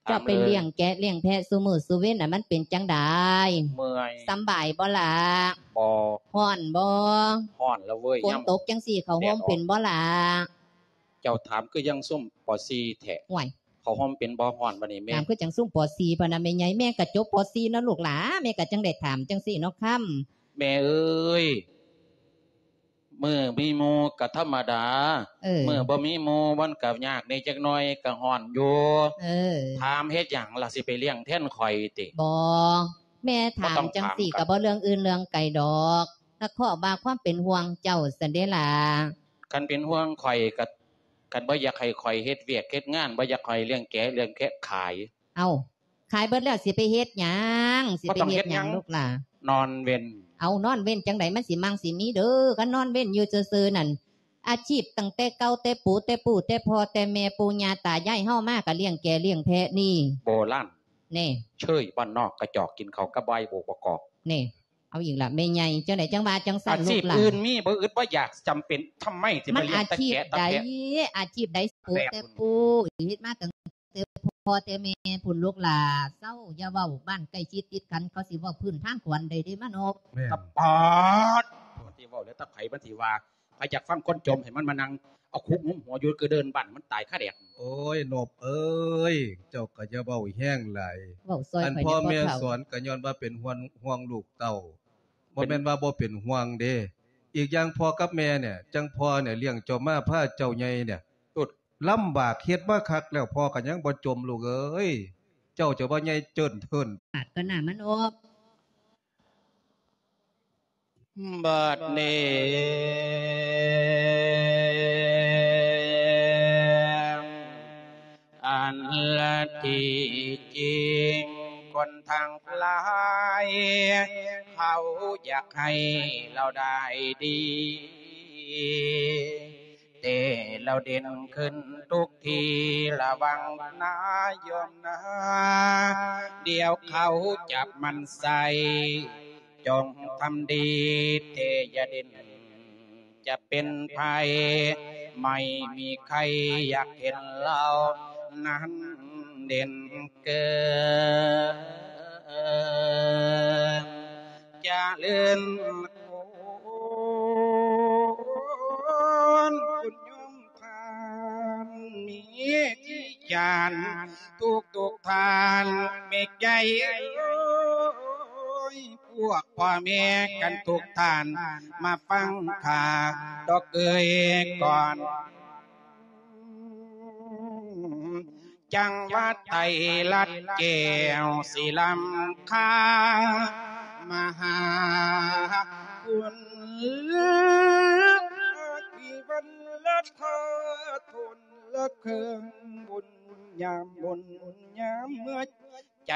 ເຈົ້າໄປລ້ຽງແກະລ້ຽງແພະຊຸມື້ຊຸເວັນນະ ມັນເປັນຈັ່ງໃດ? ເມື່ອຍ. ສຳບາຍບໍ່ລະ? ບໍ່. ຮ້ອນບໍ່? ຮ້ອນລະເວີຍ. ຝົນຕົກຈັ່ງຊີ້ ເຂົ້າໂຮມເປັນບໍ່ລະ? ເຈົ້າຖາມຄືຍັງຊຸມ ປໍສີ່ ແທ້. ໂອ້ຍ ເຂົ້າໂຮມເປັນບໍ່? ຮ້ອນບາດນີ້ແມ່. ຖາມຄືຈັ່ງຊຸມ ປໍສີ່ ພຸ້ນນະແມ່ໃຫຍ່. ແມ່ກະຈົບ ປໍສີ່ ເນາະລູກຫຼ້າ ແມ່ກະຈັ່ງໄດ້ຖາມຈັ່ງຊີ້ເນາະຄຳ. ແມ່ເອີຍ ມື້ມີໝູ່ກະທຳມະດາ ເອີ ມື້ບໍ່ມີໝູ່ມັນກະຍາກແດ່ຈັກໜ້ອຍ ກະຮ້ອນຢູ່. ເອີ ຖາມເຮັດຫຍັງລະ ຊິໄປລ້ຽງແທນຂ້ອຍຕິ? ບໍ່ ແມ່ຖາມຈັ່ງຊີ້ກະບໍ່ເລື່ອງອື່ນເລື່ອງໄກດອກ ກະເພາະວ່າຄວາມເປັນຫ່ວງເຈົ້າຊັ້ນເດລະ. ຄັນເປັນຫ່ວງຂ້ອຍກະ ຄັນບໍ່ຢາກໃຫ້ຂ້ອຍເຮັດວຽກເຮັດງານ ບໍ່ຢາກໃຫ້ຂ້ອຍລ້ຽງແກະລ້ຽງແພະຂາຍ. ເອົ້າ ຂາຍເບິດແລ້ວຊິໄປເຮັດຫຍັງ? ຊິໄປເຮັດຫຍັງລູກຫຼ້າ? ນອນເວັນ. ເອົາ ນອນເວັນຈັ່ງໃດ ມັນຊິມັ່ງຊິມີເດີ ຄັນນອນເວັນຢູ່ຊື່ໆນັ້ນ. ອາຊີບຕັ້ງແຕ່ເກົ່າແຕ່ປູແຕ່ປູແຕ່ພໍ່ແຕ່ແມ່ ປູ່ຍ່າຕາຍາຍເຮົາມາກະລ້ຽງແກະລ້ຽງແພະນີ້ ໂບລານ ແນ່ ເຊີຍບ້ານນອກ ກະຈອກກິນເຂົ້າກັບບາຍໂບກປະກອບ ແນ່. ເອົາອີກລະແມ່ໃຫຍ່ ຈັ່ງໃດຈັ່ງວ່າຈັ່ງຊັ້ນລູກຫຼ້າ? ອາຊີບອື່ນມີບໍ່? ອຶດບໍ່ຢາກ ຈຳເປັນທຳໄມຊິມາລ້ຽງແຕ່ແກະແຕ່ແພະ? ອາຊີບໃດ? ອາຊີບໃດ? ປູແຕ່ປູ ເຮັດມາຕັ້ງແຕ່ພໍ່ແຕ່ແມ່ພຸ້ນລູກຫຼ້າ. ເຊົາ ຢ່າເວົ້າ ບ້ານໃກ້ຊິດຕິດກັນ ເຂົາຊິເວົ້າພື້ນທາງກວນໄດ້ເດ້ມານົບ. ແມ່ນ. ຕະປາດ ຊິເວົ້າແລ້ວ ຕະໄຜມັນຊິວ່າ ໃຜຢາກຟັງຄົນຈົ່ມ ໃຫ້ມັນມານັ່ງເອົາຄຸກງຸ້ມຫົວຢູ່ກະເດີ່ນບ້ານ ມັນຕາຍຄາແດດ. ໂອ້ຍ ນົບເອີຍ ເຈົ້າກະຢ່າເວົ້າແຮງຫຼາຍ. ເວົ້າຊ່ອຍຂ້ອຍແດ່ພໍ່ເຖົ້າ. ອັນພໍ່ແມ່ສອນກະຍ້ອນວ່າເປັນຫ່ວງ ຫ່ວງລູກເຕົ້າ ບໍ່ແມ່ນວ່າບໍ່ເປັນຫ່ວງເດ້. ອີກຢ່າງພໍ່ກັບແມ່ເນຍ ຈັ່ງພໍ່ເນຍລ້ຽງເຈົ້າມາ ພາເຈົ້າໃຫຍ່ເນຍ ລຳບາກເຮັດມາຄັກແລ້ວ ພໍ່ກະຍັງບໍ່ຈົ່ມລູກເອີຍ. ເຈົ້າຈະວ່າໃຫຍ່ເຈີນເທີນ ປາດກະໜ້າມັນອອກ. ບັດນີ້ ອັນລະທີ່ຈິງຄົນທັງຫຼາຍ ເຂົາຢາກໃຫ້ລາວໄດ້ດີ ແຕ່ລາວເດັ່ນຂຶ້ນທຸກທີ ລະວັງນາໂຍມນາ ດຽວເຂົາຈັບມັນໃສ່ ຈົ່ງທຳດີແຕ່ຢ່າເດັ່ນ ຈະເປັນໃຜ ໄມ່ມີໃຄຢາກເຫັນລາວນັ້ນເດັ່ນເກີນ ຈະເລີນຄູນ ຄຸນໂຍມທ່ານມີທີ່ຈານ ທຸກໆທ່ານແມ່ໃຫຍ່ເອີຍ. ວກພໍ່ແມ່ກັນທຸກທ່ານ ມາຟັງຂ້າດອກເອີຍກ່ອນ. ຈັງຫວັດໄຕລັດແກ້ວສີລຳຄາ ມະຫາຄຸນ ອາທິວັນລະທາ ທົນລະເຄື່ອງບຸນຍາມບຸນຍາມເມື່ອ ໃຈ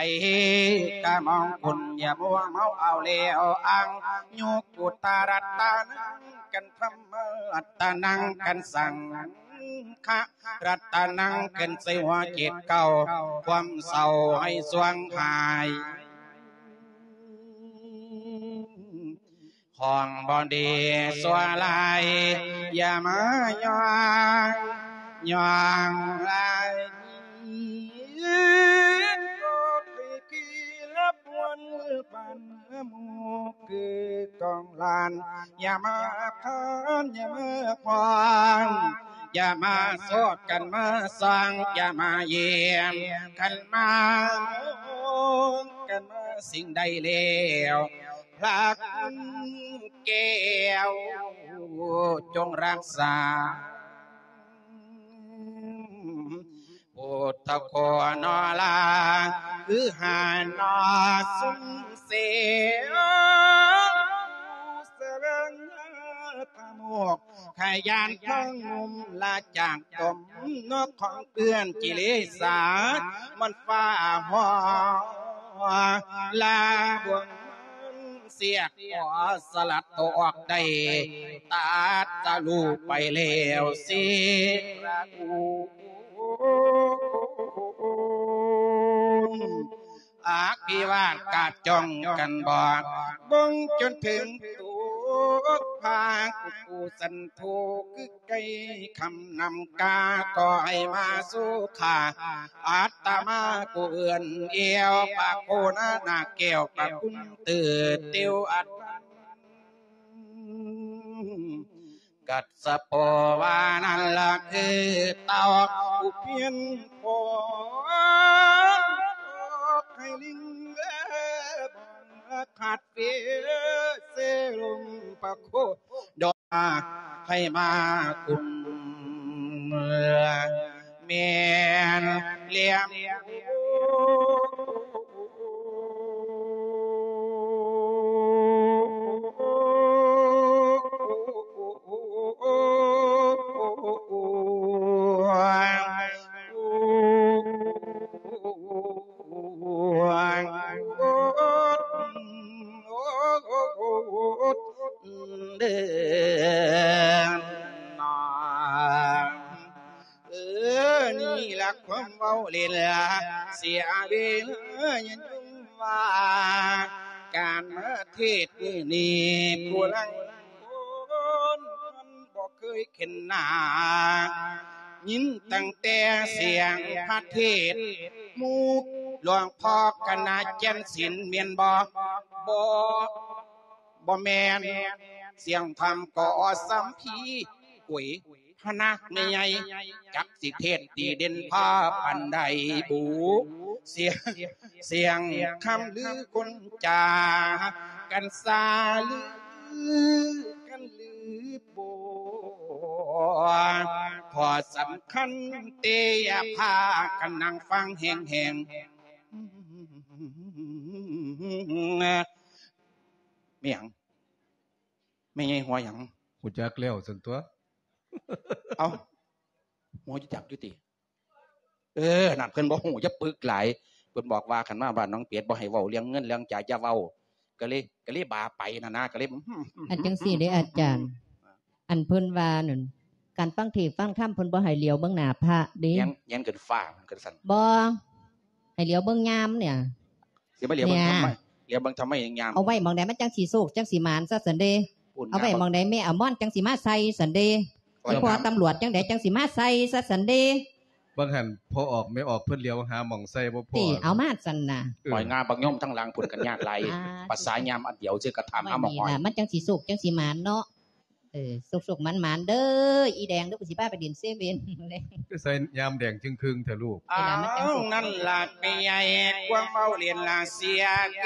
ກະມອງຄຸນ ຢ່າມົວເມົາເອົາແລ້ວອ້າງ ໂຍກຸດຕະລັດຕະນັງກັນ ທຳມະລັດຕະນັງກັນ ສັງຄະລັດຕະນັງຂຶ້ນໃສ່ຫົວຈິດເກົ່າ ຄວາມເສົ້າໃຫ້ສວງຫາຍ ຂອງບໍ່ດີຊົ່ວຮ້າຍ ຢ່າມາຍ້ອງ ຍ້ອງລາຍ ຂໍໃຫ້ພີ່ລະບວນບານໝູ່ຄືກອງຫຼານ ຢ່າມາຜ່ານ ຢ່າມາຂວາງ ຢ່າມາສອດກັນມາສ້າງ ຢ່າມາຢ້ຽມກັນມາ ມອງກັນມາ ສິ່ງໃດແລ້ວ ພະຄຸນແກ້ວ ຈົ່ງຮັກສາ ພຸດທະໂຄນອລາ ຄືຫານອສຸນເສ ສະແຫວງຫາທະໂມກ ຂະຫຍັນທັງໜຸ່ມລະຈາກຕົມ ນອກຂອງເປື້ອນກິເລສາ ມັນຟ້າຮ້ອງລາບວງ ເສຍກຂໍສະຫຼັດໂຕອອກໄດ້ ຕັດສະລຸໄປແລ້ວເສຍ ອາພິວາດກາດຈ້ອງກັນບອກ ເບິ່ງຈົນເຖິງໂຕກພາ ກູ່ສັນໂທ ຄືໄກ່ຄຳນຳກາ ກໍໃຫ້ມາສູ່ຂ້າ ອາດຕະມາກູເອື້ອນແອວ ປະໂຄນານາແກ້ວ ປະຄຸນເຕີເຕີວອັດ ກັດສະໂປວານັ້ນລະຄືເຕົ້າ ຜູ້ພຽນພໍໃຫ້ລິງແລບອນຂາດເຟເສລົງປະໂຄດອກ ໃຫ້ມາກຸມແມ່ນລຽມ ເອີ ນີ້ລະຄວາມເວົ້າເຫຼັ້ນ ເສຍເວລາຢ່າຈົ່ມວ່າ ການມາເທດມື້ນີ້ ຜູ້ລາງຄົນບໍ່ເຄີຍເຫັນໜ້າ ຍິນຕັ້ງແຕ່ສຽງພະເທດ ໝູ່ຫຼວງພໍ່ຄະນະແກ່ນສິນ ແມ່ນບໍ່? ບໍ່ ບໍ່ແມ່ນ ສຽງທຳກໍສຳພີ ໂອ້ຍ ພະນະແມ່ໃຫຍ່ ຈັກຊິເທດດີເດັ່ນພາປານໃດບຸ ສຽງ ສຽງຄຳລືຄົນຈາ ກັນສາລືກັນລືໂບ ຂໍ້ສຳຄັນເຕ ຢ່າພາກັນນັ່ງຟັງແຮງໆ ແມ່ນຫຍັງ? ແມ່ໃຫຍ່ຫົວຫຍັງ? ຮູ້ຈັກແລ້ວຊັ້ນຕົວະ. ເອົ້າ ຫົວຢູ່ຈັກຢູ່ຕິ? ເອີ ນັ້ນເພິ່ນບໍ່ຮູ້ ຢ່າປຶກຫຼາຍ. ເພິ່ນບອກວ່າ ຄັນມາບ້ານໜອງເປັດ ບໍ່ໃຫ້ເວົ້າເລື່ອງເງິນເລື່ອງຈາ ຢ່າເວົ້າ. ກໍເລີຍ ກໍເລີຍບາໄປຫັ້ນນະ ກໍເລີຍ ອັນຈັ່ງຊີ້ເດ້ອາຈານ ອັນເພິ່ນວ່ານັ້ນ ການຟັງເທດຟັງທຳ ເພິ່ນບໍ່ໃຫ້ຫຼຽວເບິ່ງໜ້າພະເດ້ ແຍງ ແຍງຂຶ້ນຟ້າ ເພິ່ນວ່າຊັ້ນ. ບໍ່ ໃຫ້ຫຼຽວເບິ່ງຍາມເນຍ ຊິມາຫຼຽວເບິ່ງທຳໄມ? ຫຼຽວເບິ່ງທຳໄມຍາມ? ເອົາໄວ້ໝ່ອງໃດມັນຈັ່ງຊິໂຊກ ຈັ່ງຊິໝານຊະຊັ້ນເດ້. ເອົາໄວ້ໝ່ອງໃດແມ່ອາມອນຈັ່ງຊິມາໃສ່ຊັ້ນເດ້. ເອົາໄວ້ ອີ່ພໍ່ຕຳຫຼວດຈັ່ງໃດຈັ່ງຊິມາໃສ່ຊະຊັ້ນເດ້. ບາງຫັ້ນພໍ່ອອກແມ່ອອກເພິ່ນຫຼຽວຫາໝ່ອງໃສ່ບໍ່ພໍຕິ ເອົາມາຊັ້ນນະ. ເອີ ປອຍງາບັກຍົມທາງຫຼັງພຸ້ນກໍຍາກຫຼາຍ. ອ່າ ພາສາຍາມອັນດຽວຊື່ກະຖາມຫາໝ່ອງ ນີ້ລະ ມັນຈັ່ງຊິໂຊກຈັ່ງຊິໝານເນາະ. ເອີ ສຸກໆໝານໆເດີອີ່ແດງເດີ ກູຊິພາໄປຫຼິ້ນເຊເວັ່ນ. ໄປໃສ່ຍາມແດງຈຶ່ງຄຶ່ງແທ້ລູກ. ເວລາມັນຈັ່ງຊິ ເອົານັ້ນລະແມ່ໃຫຍ່ ຄວາມເວົ້າຫຼິ້ນລະເສຍເກ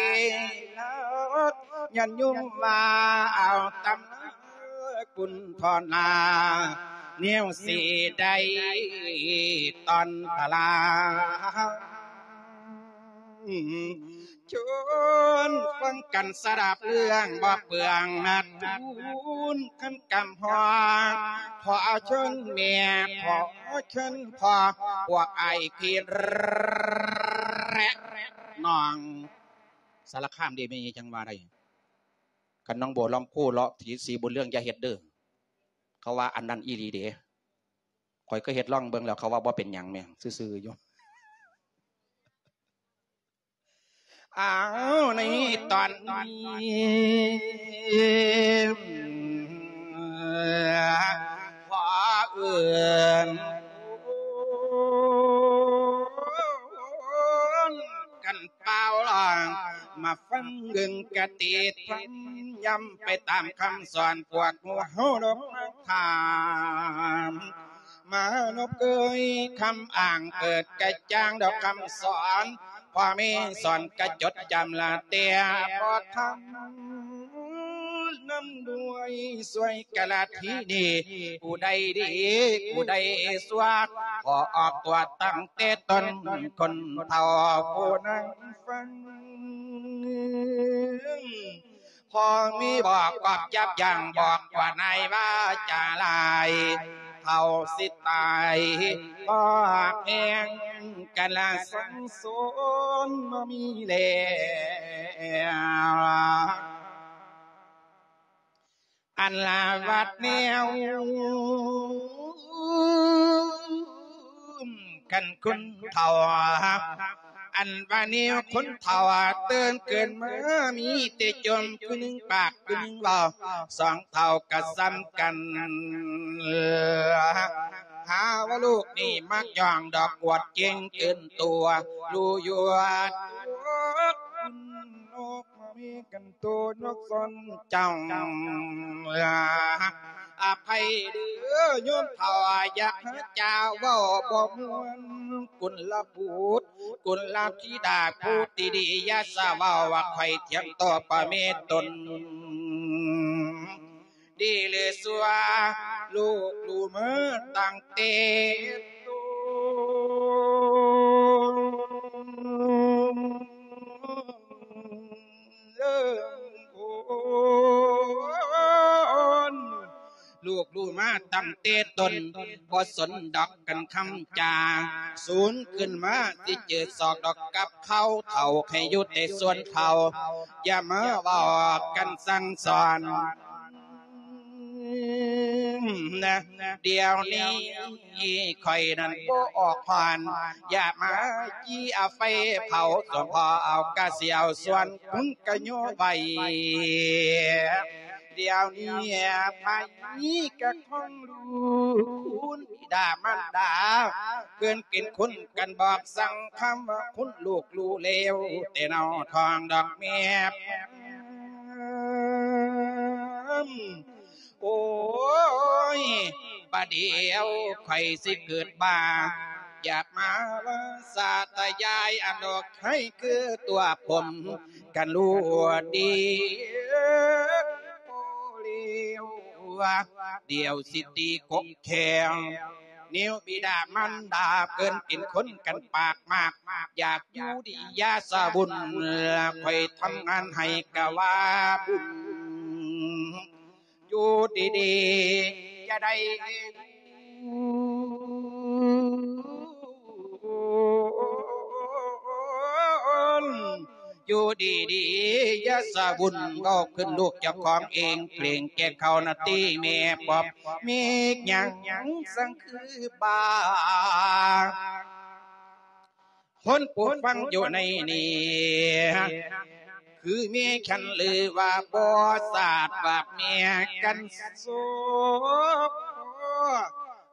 ລາ ຍາດໂຍມວ່າເອົາຕຳບຸນພອນາ ແນວຊິໄດ້ຕອນຕະລາ ຊົນຟັງກັນສະດັບເລື່ອງບໍ່ເປືອງ ມາທູນຂັນກຳຮອງ ຂໍເຊີນແມ່ ຂໍເຊີນພໍ່ ພວກອ້າຍພີ່ແລະນ້ອງ ສາລະຄາມເດ້ແມ່ ຈັ່ງວ່າໄດ້ ຄັນໜອງບົວລຳພູ ເລາະທີ່ສີບຸນເຮືອງ ຢ່າເຮັດເດີ້ ເຂົາວ່າອັນນັ້ນອີ່ຫຼີເດ້ ຂ້ອຍກໍເຮັດລອງເບິ່ງແລ້ວ ເຂົາວ່າບໍ່ເປັນຫຍັງແມ່ ຊື່ໆຢູ່ ອ້າວ ໃນຕອນນີ້ ຂໍເອີ້ນກັນປ່າວລອງ ມາຟັງເບິ່ງກະຕິດ ຍຳໄປຕາມຄຳສອນ ພວກໝູ່ເຮົາດອກມາຖາມ ມານົບເກີຍຄຳອ້າງ ເກີດກະຈ່າງດອກຄຳສອນ ພໍ່ແມ່ສອນກະຈົດຈຳລະແຕ່ບໍ່ທັນ ນຳດ້ວຍຊ່ວຍກະລະທີນີ້ ຜູ້ໃດດີ ຜູ້ໃດຊົ່ວ ຂໍອອກຕົວຕັ້ງແຕ່ຕົ້ນ ຄົນເຖົ້າຜູ້ນັ້ນຟັງ ພໍ່ມີບອກກອບຈັບຢ່າງ ບອກວ່ານາຍວ່າຈາຫຼາຍ ເຖົ້າຊິຕາຍ ບໍ່ແພງກັນລະສັງສົມບໍ່ມີແລ້ວ ອັນລະວັດແນວ ຄັນຄົນເຖົ້າ ອັນວ່າແນວຄົນເຖົ້າ ຕື່ນເກີນມາມີແຕ່ຈົ່ມ ຜູ້ໜຶ່ງປາກຜູ້ໜຶ່ງເວົ້າ ສອງເຖົ້າກະສ່ຳກັນ ຫາວ່າລູກນີ້ມັກຍ້ອງດອກ ອວດເກັ່ງເກີນຕົວ ຮູ້ຢູ່ວ່າຕົວ ມີກັນໂຕນອກສອນເຈົ້າ ອະໄພເດີໂຍມເຖົ້າ ຢາກຫາຈາເວົ້າບໍ່ມ່ວນ ກຸນລະບຸດ ກຸນລະທິດາ ຜູ້ທີ່ດີ ຢ່າສະເວົ້າວ່າຂ້ອຍຖຽງຕໍ່ພໍ່ແມ່ຕົນ ດີຫຼືຊົ່ວ ລູກຮູ້ມາຕັ້ງແຕ່ໂຕ ເອີ ໂອ້ນ ລູກຮູ້ມາຕັ້ງແຕ່ຕົ້ນ ບໍ່ສົນດອກກັນຄຳຈາ ສູນຂຶ້ນມາຊິຈື່ສອກດອກກັບເຂົາ ເຖົ້າໃຫ້ຢູ່ແຕ່ສ່ວນເຖົ້າ ຢ່າມາເວົ້າກັນສັ່ງສອນ ນະ ດຽວນີ້ຂ້ອຍນັ້ນບໍ່ອອກຜ່ອນ ຢ່າມາຈີ້ເອົາໄຟເຜົາ ສວນພໍ່ເອົາກະສຽວ ສວນຄຸນກະໂຍໄວ້ ດຽວນີ້ໃຜກະຄອງລູກ ຄຸນບິດາມານດາ ເພິ່ນເປັນຄົນກັນບອກສັ່ງຄຳວ່າ ຄຸນລູກຮູ້ແລ້ວ ແຕ່ເນົາທ້ອງດອກແມ່ ໂອ້ຍ ບາດດຽວຂ້ອຍຊິເກີດບ້າ ຢາກມາວ່າສາຕະຍາຍ ອັນດອກໄຮຄືຕົວຜົມ ກັນຮູ້ດີ ໂອ້ ເລວ ດຽວຊິຕີກົກແຂ້ງ ແນວບິດາມານດາ ເພິ່ນເປັນຄົນກັນປາກມາກ ຢາກຢູ່ດີຢ່າສະບຸນ ຂ້ອຍທຳງານໃຫ້ກະວ່າບຸນ ຢູ່ດີໆ ຈະໄດ້ ຢູ່ດີໆ ຢ່າສະວຸ່ນ ເວົ້າຂຶ້ນລູກເຈົ້າຂອງເອງ ເກງແກ່ເຂົານະຕິແມ່ປອບ ມີຫຍັງສັງຄືບາ ຄົນຜູ້ຟັງຢູ່ໃນນີ້ ຄືມີຄັນຫຼືວ່າບໍ່ຊາດວ່າເມຍກັນໂຊ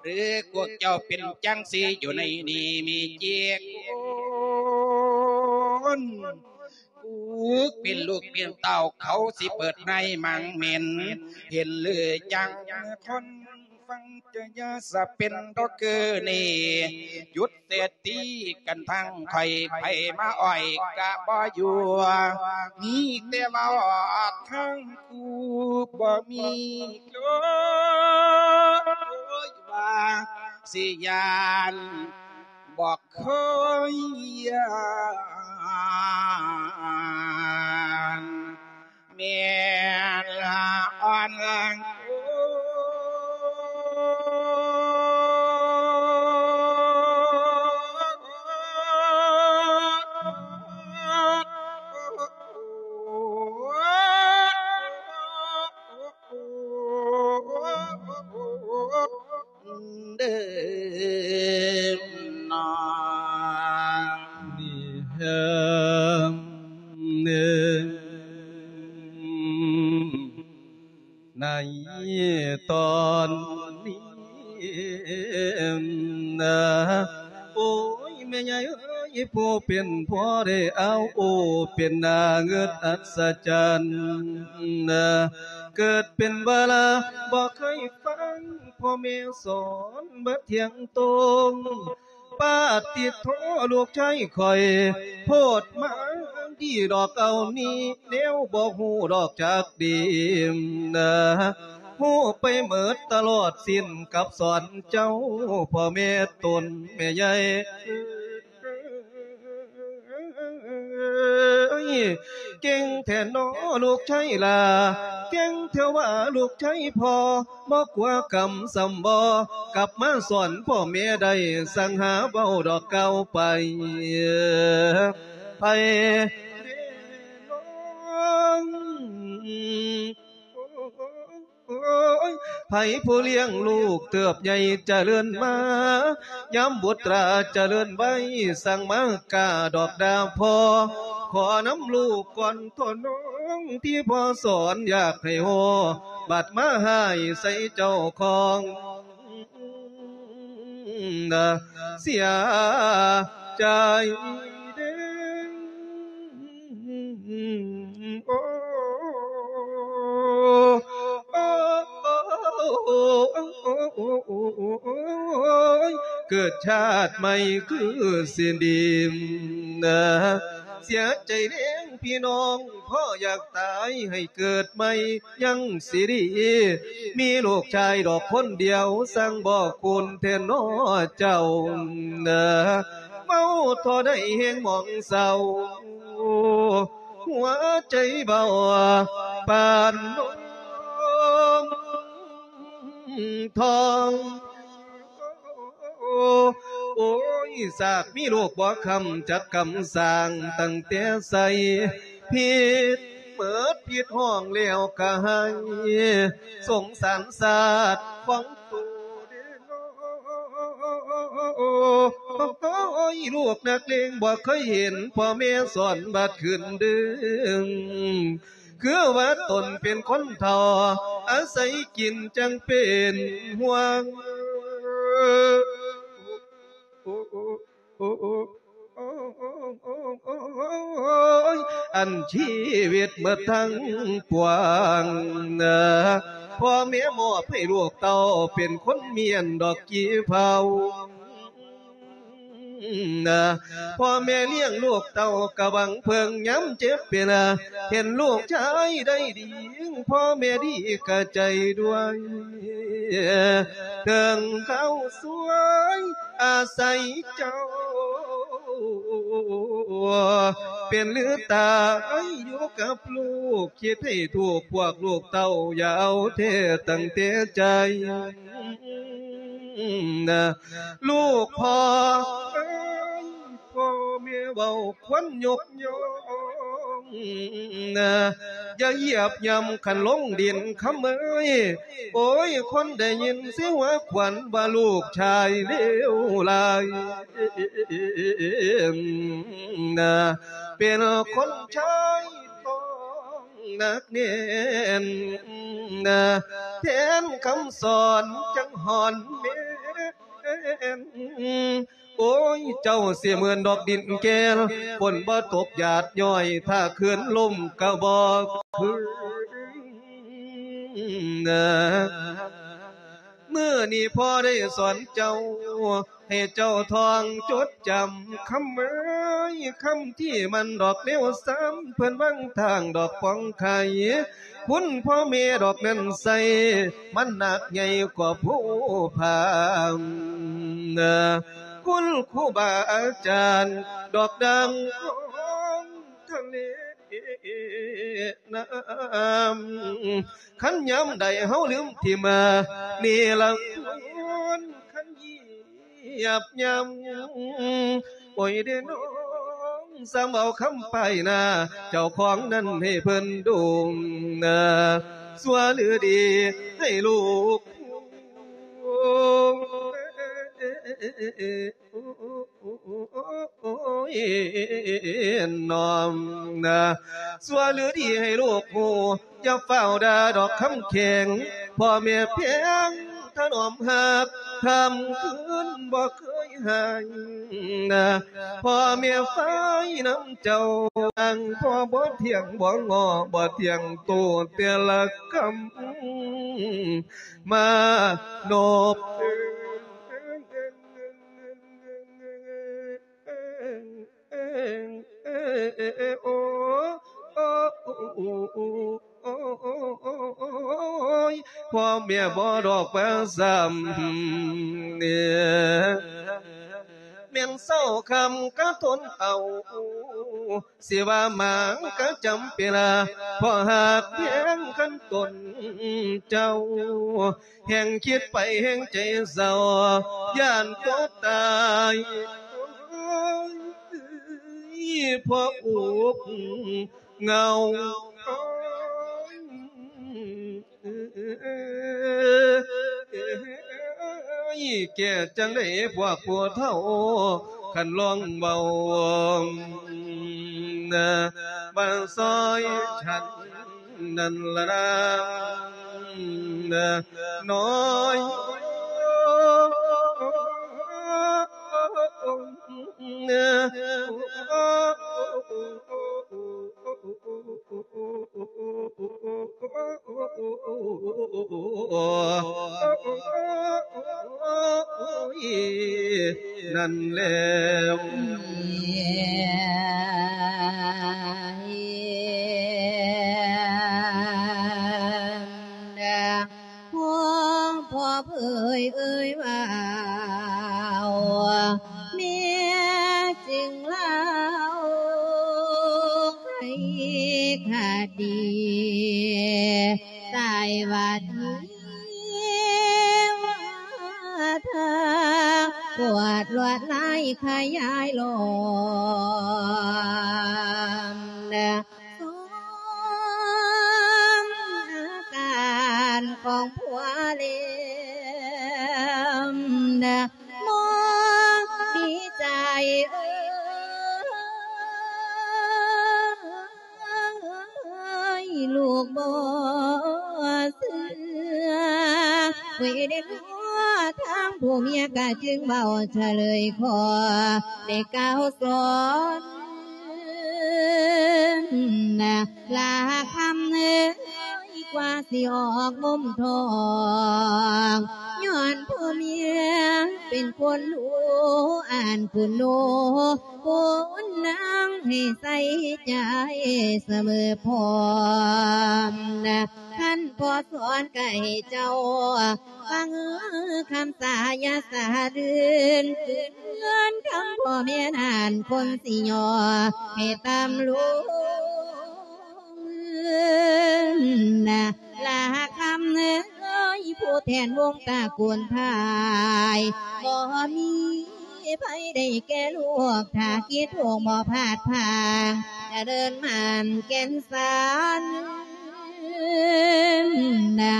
ຫຼືພວກເຈົ້າເປັນຈັ່ງຊີ້ຢູ່ໃນນີ້ມີເຈັກຄົນ ປູກເປັນລູກເປັນເຕົ້າ ເຂົາຊິເປີດໃນມັງເໝັນ ເຫັນຫຼືຈັ່ງຄົນ ຟັງຈະຢ່າສະເປັນດອກເກີນີ້ ຢຸດເສຍຕີກັນທັງຂ້ອຍ ໃຜມາອ້ອຍກະບໍ່ຢູ່ ມີແຕ່ເວົ້າທາງຄູ່ ບໍ່ມີໂຕວ່າຊິຢ້ານ ບໍ່ເຄີຍຢ້ານ ແມ່ນອ່ອນແຮງ ເດີນອງ ໃນຕອນນີ້ນະ ໂອ້ຍ ແມ່ໃຫຍ່ເອີຍ ຜູ້ເປັນພໍ່ໄດ້ອາວໂອ ເປັນໜ້າເງິດອັດສະຈັນນະ ເກີດເປັນບາລາ ບໍ່ເຄີຍຟັງພໍ່ແມ່ສອນ ບໍ່ທ່ຽງຕົງ ປາຕິໂທ ລູກຊາຍຂ້ອຍ ໂພດມາດີດອກເອົານີ້ ແນວບໍ່ຮູ້ດອກຈັກດີນະ ຮູ້ໄປເໝິດຕະຫຼອດສິ້ນກັບສອນເຈົ້າ ພໍ່ແມ່ຕົນແມ່ໃຫຍ່ ເກັ່ງແທ້ນໍລູກຊາຍຫຼ້າ ເກັ່ງແທ້ວ່າລູກຊາຍພໍ່ ບໍ່ກົວກຳສ່ຳບໍ່ ກັບມາສອນພໍ່ແມ່ໄດ້ ສັ່ງຫາເວົ້າດອກກ່າວໄປ ໃຜເດນ້ອງ ໂອ້ຍ ໃຜຜູ້ລ້ຽງລູກເຕີບໃຫຍ່ຈະເລີນມາ ຍາມບຸດຕາຈະເລີນໄວ ສັ່ງມາກ້າດອກດາພໍ່ ຂໍນຳລູກກ່ອນໂທນ້ອງ ທີ່ພໍ່ສອນຢາກໃຫ້ຮູ້ ບັດມາຮ້າຍໃສ່ເຈົ້າຂອງ ເສຍໃຈເດ້ ໂອ້ ເກີດຊາດໃໝ່ຄືຊິດີ ເສຍໃຈແຮງພີ່ນ້ອງ ພໍ່ຢາກຕາຍໃຫ້ເກີດໃໝ່ ຍັງຊິດີ ມີລູກຊາຍດອກຄົນດຽວ ຊ່າງບໍ່ຄູນແທ້ນໍເຈົ້າ ເວົ້າທໍ່ໃດແຮງໝອງເສົ້າ ຫົວໃຈເບົາປານນົມທອງ ໂອ້ຍ ສາກມີລູກບໍ່ຄຳ ຈັກກຳສ້າງຕັ້ງແຕ່ໃສ ຜິດເໝິດຜິດຫ້ອງແລ້ວກະໄຫ້ ສົງສານຊາດຂອງໂຕເດ້ນໍ ໂອ້ຍ ລູກນັກເລງບໍ່ເຄີຍເຫັນ ພໍ່ແມ່ສອນບັດຂຶ້ນດຶງ ຄືວ່າຕົນເປັນຄົນເຖົ້າ ອາໄສກິນຈັ່ງເປັນຫ່ວງ ອັນຊີວິດໝົດທັງປວງ ພໍ່ແມ່ມອບໃຫ້ລູກເຕົ້າ ເປັນຄົນມ້ຽນດອກກີ່ເຜົາ ພໍ່ແມ່ລ້ຽງລູກເຕົ້າກະຫວັງເພິ່ງຍາມເຈັບເປັນ ເຫັນລູກຊາຍໄດ້ດີ ພໍ່ແມ່ດີກະໃຈດ້ວຍ ເຖິງເຂົາສວຍອາໄສເຈົ້າ ເປັນຫຼືຕາຍຢູ່ກັບລູກ ຄິດໃຫ້ທຸກພວກລູກເຕົ້າ ຢ່າເອົາແທ້ຕັ້ງແຕ່ໃຈ ລູກພໍ່ເອີຍ ພໍ່ແມ່ເວົ້າຄວນຍົກຍ້ອງ ຢ່າຢຽບຫຍ້ຳຄັນລົງດິນຄຳເອີຍ ໂອ້ຍ ຄົນໄດ້ຍິນຊິຫົວຂວັນວ່າລູກຊາຍເລວຫຼາຍ ເປັນຄົນຊາຍຕ້ອງ ໜັກແໜ້ນ ແທນຄຳສອນຈັ່ງຫອນແມ່ນ ໂອ້ຍ ເຈົ້າຊິເໝືອນດອກດິນແກ່ນ ຝົນບໍ່ຕົກຢາດຍ້ອຍ ຖ້າຄືນລົມກະບໍ່ຄືນ. ມື້ນີ້ພໍ່ໄດ້ສອນເຈົ້າ ໃຫ້ເຈົ້າທ່ອງຈົດຈຳຄຳເອີຍ ຄຳທີ່ມັນດອກແນວຊ້ຳ ເພິ່ນວາງທາງດອກປອງໄຂ່ ຄຸນພໍ່ແມ່ດອກນັ້ນໃສ່ ມັນໜັກໃຫຍ່ກວ່າພູຜາ ຄຸນຄູບາອາຈານ ດອກດັ່ງຂອງທະເລນ້ຳ ຄັນຍາມໃດເຮົາລືມຖິ້ມເນລະຄຸນ ຄັນຢຽບຍ່ຳ ໂອ້ຍເດ້ນ້ອງ ສ່ຳເອົາຄຳປ້າຍໜ້າເຈົ້າຂອງນັ້ນໃຫ້ເພິ່ນດຸງນາ ຊົ່ວຫຼືດີໃຫ້ລູກ ໂອ້ຍ ນ້ອງນາ ຊົ່ວຫຼືດີໃຫ້ລູກຮູ້ ຢ່າຟ້າວດ່າດອກຄຳແຂງ ພໍ່ແມ່ແພງຖະໜອມຮັກ ຂ້າມຄືນບໍ່ເຄີຍຫາຍນາ ພໍ່ແມ່ໄຟນຳເຈົ້າ ນາງພໍ່ບໍ່ທ່ຽງບໍ່ງໍ ບໍ່ທ່ຽງໂຕແຕ່ລະຄຳ ມານົບ ໂອ້ຍ ພໍ່ແມ່ບໍ່ດອກວ່າຊ້ຳ ແມ່ນເຊົາຄ່ຳກະທົນເອົາ ຊິວ່າໝາງກະຈຳເປັນລະ ເພາະຫາກແພງຄັນຕົນເຈົ້າ ແຮ່ງຄິດໄປແຮ່ງໃຈເສົ້າ ຢ້ານຕົວຕາຍ ເພາະອຸກເຫງົາ ແກ້ຈັ່ງໃດພວກຜູ້ເຖົ້າ ຄັນລອງເວົ້າ ມາຊ່ອຍສັນນັ້ນລະນາ ນ້ອຍ ນັ້ນແລ້ວ ພວກພໍ່ເຜີຍເອີຍວ່າ ແມ່ຈຶ່ງເລົ່າໄຂຄະດີ ສາຍວັດເທວະດາ ປວດລວດລາຍຂະຫຍາຍຫຼອມ ສົມອາການຂອງຜົວເລມ ບໍ່ດີໃຈເອີຍ ລູກບໍ່ເຊື່ອ ເວເດນາທາງຜູ້ເມຍກະຈຶ່ງເວົ້າສະເລີຍຂໍ ໄດ້ກ່າວສອນ ລາຄຳເອີຍ ກວ່າຊິອອກມຸມທ້ອງ ຍ້ອນຜູ້ເມຍເປັນຄົນຮູ້ອ່ານຄຸນໂນ ຄຸນນາງໃຫ້ໃສ່ໃຈສະເໝີພ້ອມ ຄັນພໍ່ສອນກະໃຫ້ເຈົ້າ ຟັງຄຳສາຢ່າສາລື່ນ ຄືນທຳພໍ່ແມ່ນັ້ນຄົນຊິຍໍໃຫ້ຕຳລົງນາ ລາຄຳເອີຍ ຜູ້ແທນວົງຕະກູນພາຍ ບໍ່ມີໃຜໄດ້ແກ່ລູກ ຖ້າຄິດໂຮງບໍ່ພາດພາງ ຈະເດີນໝັ້ນແກ່ນສັນນາ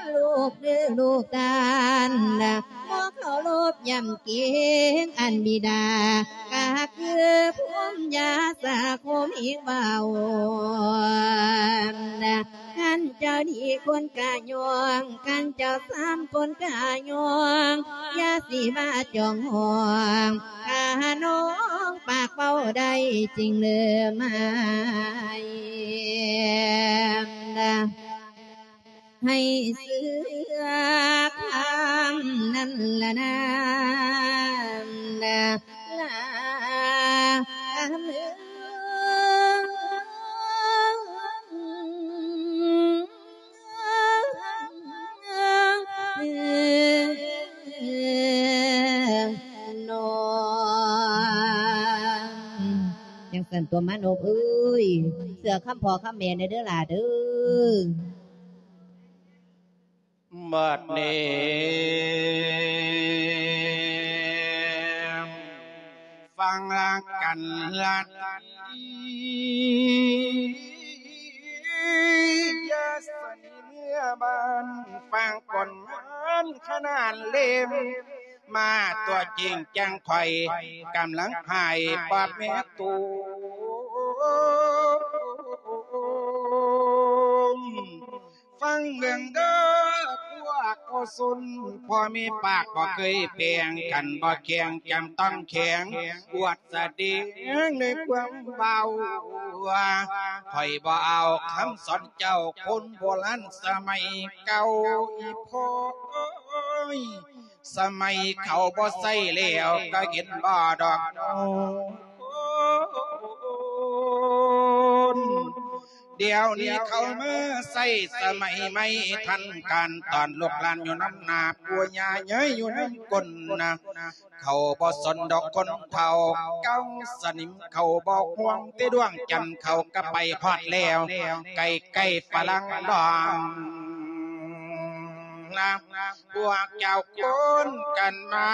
ລູກເດີລູກທ່ານນາ ບໍ່ເຄົາລົບຢຳເກງອັນບິດາ ກະຄືພູມຢາສາຄົມເອງເວົ້ານາ ຄັນເຈົ້າດີຄົນກະຍ້ອງ ຄັນເຈົ້າຊ້ຳຄົນກະຍ້ອງ ຢ່າຊິມາຈ້ອງຫ້ອງ ຖ້ານ້ອງປາກເວົ້າໄດ້ຈຶ່ງເລີມໃຫ້ ໃຫ້ເຊື່ອ ນັ້ນລະນາ ນາ ເນາະ ຈັ່ງຊັ້ນຕົວະມານົບເອີຍ ເຊື່ອຄຳພໍ່ຄຳແມ່ແດ່ເດີຫຼ້າເດີ. ບັດນີ້ຟັງລາກັນລາຕີ ຢ່າສະໜີເມືອບ້ານ ຟັງຜົນງານຂະໜານເຫຼັ້ມ ມາຕົວຈິງຈັ່ງຂ້ອຍ ກຳລັງຫາຍປາບແມ່ຕູ ຟັງເບິ່ງເດີພວກໂກສົນ ພໍ່ແມ່ປາກບໍ່ເຄີຍແປງກັນ ບໍ່ແຂງຈຳຕ້ອງແຂງ ອວດສະແດງໃນຄວາມເວົ້າ ຂ້ອຍບໍ່ເອົາຄຳສອນເຈົ້າ ຄົນໂບລານສະໄໝເກົ່າ ອີ່ພໍ່ເອີຍ ສະໄໝເຂົາບໍ່ໃຊ້ແລ້ວ ກໍເຫັນບໍ່ດອກນ້ອງ ດຽວນີ້ເຂົາມາໃຊ້ສະໄໝໃໝ່ທັນການ ຕອນລູກຫຼານຢູ່ນຳໜ້າປູ່ຍ່າ ເຍີ້ຍຢູ່ນຳກົ້ນນະ ເຂົາບໍ່ສົນດອກຄົນເຖົ້າເກົ່າສະໜິມ ເຂົາບໍ່ຫ່ວງແຕ່ດວງຈັນ ເຂົາກໍໄປຮອດແລ້ວ ໃກ້ໆຝຣັ່ງດອງນະ ພວກເຈົ້າຄົນກັນມາ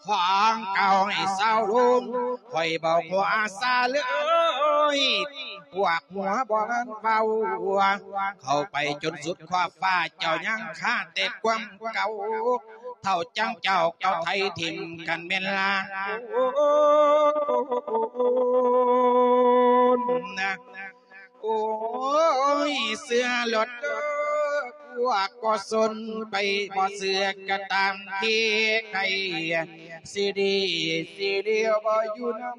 ຂອງເກົ່າໃຫ້ເຊົາລົງ ຂ້ອຍບໍ່ຫົວຊາເລີຍ ພວກຫົວບໍ່ທັນເວົ້າ ເຂົ້າໄປຈົນສຸດຂອບຟ້າ ເຈົ້າຍັງຄາແຕ່ຄວາມເກົ່າ ເທົ່າຈັ່ງເຈົ້າເກົ່າໄຖຖິ້ມກັນແມ່ນລານ ໂອ້ຍ ເຊື່ອໂລດເດີ ພວກບໍ່ສົນໄປ ບໍ່ເຊື່ອກໍຕາມທີ່ໃຄ ຊິດີຊິເລວບໍ່ຢູ່ນຳ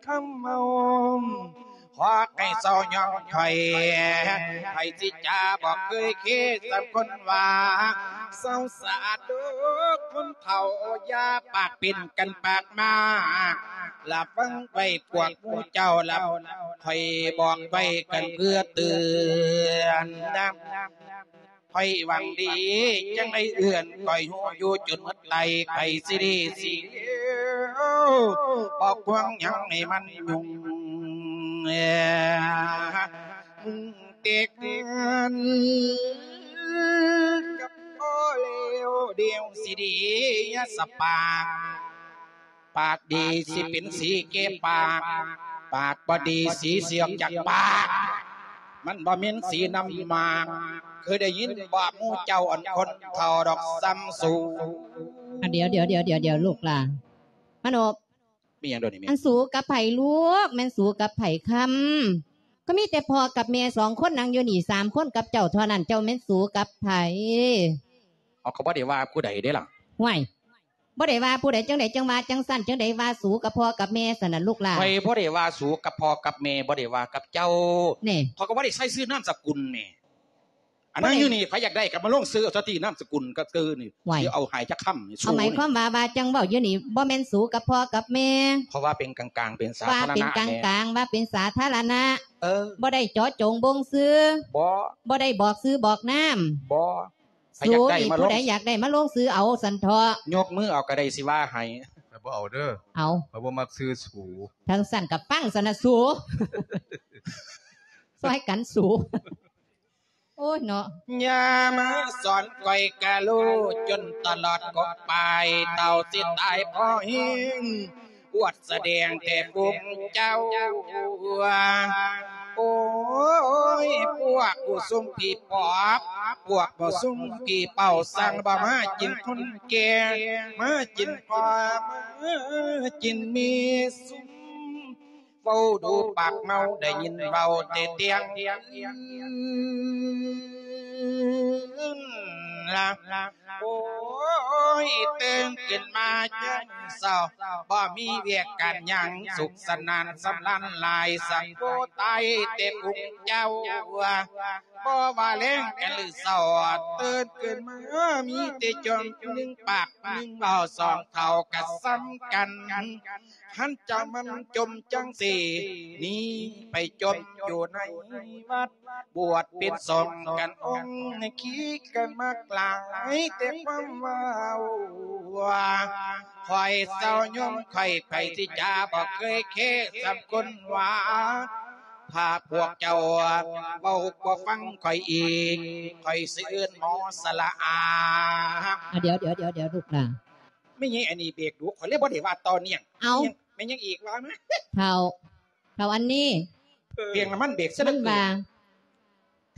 ຄຳເມົາ ຂໍໃຫ້ເຊົາຍອມຂ້ອຍ ໃຜຊິຈາບໍ່ເຄີຍເຄສຳຄົນວ່າ ເຊົາສາດເດີຄົນເຖົ້າ ຢ່າປາກເປັນກັນປາກມາ ລະຟັງໄວ້ພວກໝູ່ເຈົ້າລະ ຂ້ອຍບອກໄວ້ກັນເພື່ອເຕືອນນະ ຂ້ອຍຫວັງດີຈັ່ງໄດ້ເອື້ອນ ຂ້ອຍຮູ້ຢູ່ຈົນໝົດໄຕ ໃຜຊິດີຊິເລວ ບໍ່ຄວນຫຍັງໃຫ້ມັນຫຍຸ້ງ ເຕັກກັບພໍ່ແລ້ວ ດຽວຊິດີ ຢ່າສະປາກ ປາກດີຊິເປັນສີແກ່ປາກ ປາກບໍ່ດີສີຊິອອກຈາກປາກ ມັນບໍ່ແມ່ນສີນ້ຳໝາກ ເຄີຍໄດ້ຍິນບໍ່ໝູ່ເຈົ້າ ອັນຄົນເຖົ້າດອກສ່ຳສູ ອ່ະ ດຽວໆໆໆ ລູກຫຼ້າ ມານົບ ມີຫຍັງດອກນີ້ແມ່? ອັນສູກັບໃຜລູກ? ແມ່ນສູກັບໃຜຄຳ? ກໍມີແຕ່ພໍ່ກັບແມ່ສອງຄົນນັ່ງຢູ່ນີ້ ສາມຄົນກັບເຈົ້າເທົ່ານັ້ນ ເຈົ້າແມ່ນສູກັບໃຜ? ເຮົາກໍບໍ່ໄດ້ວ່າຜູ້ໃດເດ້ລະ. ຫ້ວຍ ບໍ່ໄດ້ວ່າຜູ້ໃດຈັ່ງໃດ ຈັ່ງວ່າຈັ່ງຊັ້ນ ຈັ່ງໃດວ່າສູກັບພໍ່ກັບແມ່ຊັ້ນນະລູກຫຼ້າ? ຂ້ອຍບໍ່ໄດ້ວ່າສູກັບພໍ່ກັບແມ່ ບໍ່ໄດ້ວ່າກັບເຈົ້າ. ນີ້ ຂ້ອຍກໍບໍ່ໄດ້ໃສ່ຊື່ນາມສະກຸນແໝ່. ອັນນັ້ນຢູ່ນີ້ ໃຜຢາກໄດ້ກໍມາລົງຊື່ເອົາຊະຕິ ນາມສະກຸນກໍຄືນີ້ ໄວ້ ຊິເອົາໃຫ້ຈັກຄຳນີ້ ເອົາ ໝາຍຄວາມວ່າ ວ່າຈັ່ງເວົ້າຢູ່ນີ້ ບໍ່ແມ່ນສູກັບພໍ່ກັບແມ່ ເພາະວ່າເປັນກາງໆ ເປັນສາທາລະນະ ວ່າເປັນກາງໆ ແມ່ ວ່າເປັນສາທາລະນະ ເອີ ບໍ່ໄດ້ເຈາະຈົງບົ່ງຊື່ ບໍ່ ບໍ່ໄດ້ບອກຊື່ບອກນາມ ບໍ່ ໃຜຢາກໄດ້ມາລົງ ຜູ້ໃດຢາກໄດ້ມາລົງຊື່ເອົາຊັ້ນເຖາະ ຍົກມືເອົາກໍໄດ້ ຊິວ່າໃຫ້ ຂ້ອຍບໍ່ເອົາເດີ ເອົາ ຂ້ອຍບໍ່ມັກຊື່ສູ ຈັ່ງຊັ້ນກໍຟັງຊັ້ນນະສູ ຊ່ອຍກັນສູ. ໂອ້ຍເນາະ ຢ່າມາສອນຂ້ອຍກະຮູ້ຈົນຕະຫຼອດກົກປາຍ ເທົ່າຊິຕາຍພໍແຮງ ອວດສະແດງແຕ່ຝູງເຈົ້າ. ໂອ້ຍ ພວກຜູ້ຊຸມຜີປອບ ພວກຜູ້ຊຸມຜີເປົ່າ ຊ່າງບໍ່ມາກິນຄົນແກ່ ມາກິນພໍ່ ມາກິນແມ່ຊຸມ ເວົ້າດູປາກເມົາ ໄດ້ຍິນເວົ້າແຕ່ຕຽງຄືນ. ລະ ໂອ້ຍ ຕື່ນຂຶ້ນມາຍາມເຊົ້າ ບໍ່ມີວຽກການຫຍັງ ສຸກສະໜານສຳລານຫຼາຍ ສັງໂກຕາຍແຕ່ປຸງເຈົ້າ ບໍ່ວ່າແລງກັນຫຼືເຊົ້າ ຕື່ນຂຶ້ນມາມີແຕ່ຈອມໜຶ່ງປາກໜຶ່ງເວົ້າ ສອງເຖົ້າກະສ່ຳກັນ ຄັນເຈົ້າມັນຈົ່ມຈັ່ງຊີ້ ໜີໄປຈົ່ມຢູ່ໃນວັດ ບວດເປັນສົງກັນອົງ ຂີ່ກັນມາກຫຼາຍແຕ່ຄວາມເວົ້າ ຂ້ອຍເຊົາຍົມຂ້ອຍ ໃຜຊິຈາບໍ່ເຄີຍເຄສ່ຳຄົນວ່າ ພາພວກເຈົ້າເວົ້າບໍ່ຟັງຂ້ອຍອີກ ຂ້ອຍຊິເອີ້ນໝໍສະຫຼະອາ. ອ່ະ ດຽວ ດຽວ ດຽວ ດຽວ ລູກຫຼານ ແມ່ນຫຍັງອັນນີ້ເບກດຸ ຂ້ອຍເລີຍບໍ່ໄດ້ວ່າຕໍ່ເນື່ອງ. ເອົ້າ ແມ່ນຫຍັງ ແມ່ນຫຍັງອີກວ່າມາ? ເຖົ້າ ເຖົ້າອັນນີ້ ເອີ ປ່ຽງນ້ຳມັນເບກຊະເຫຼືອເກີນ ມັນວ່າ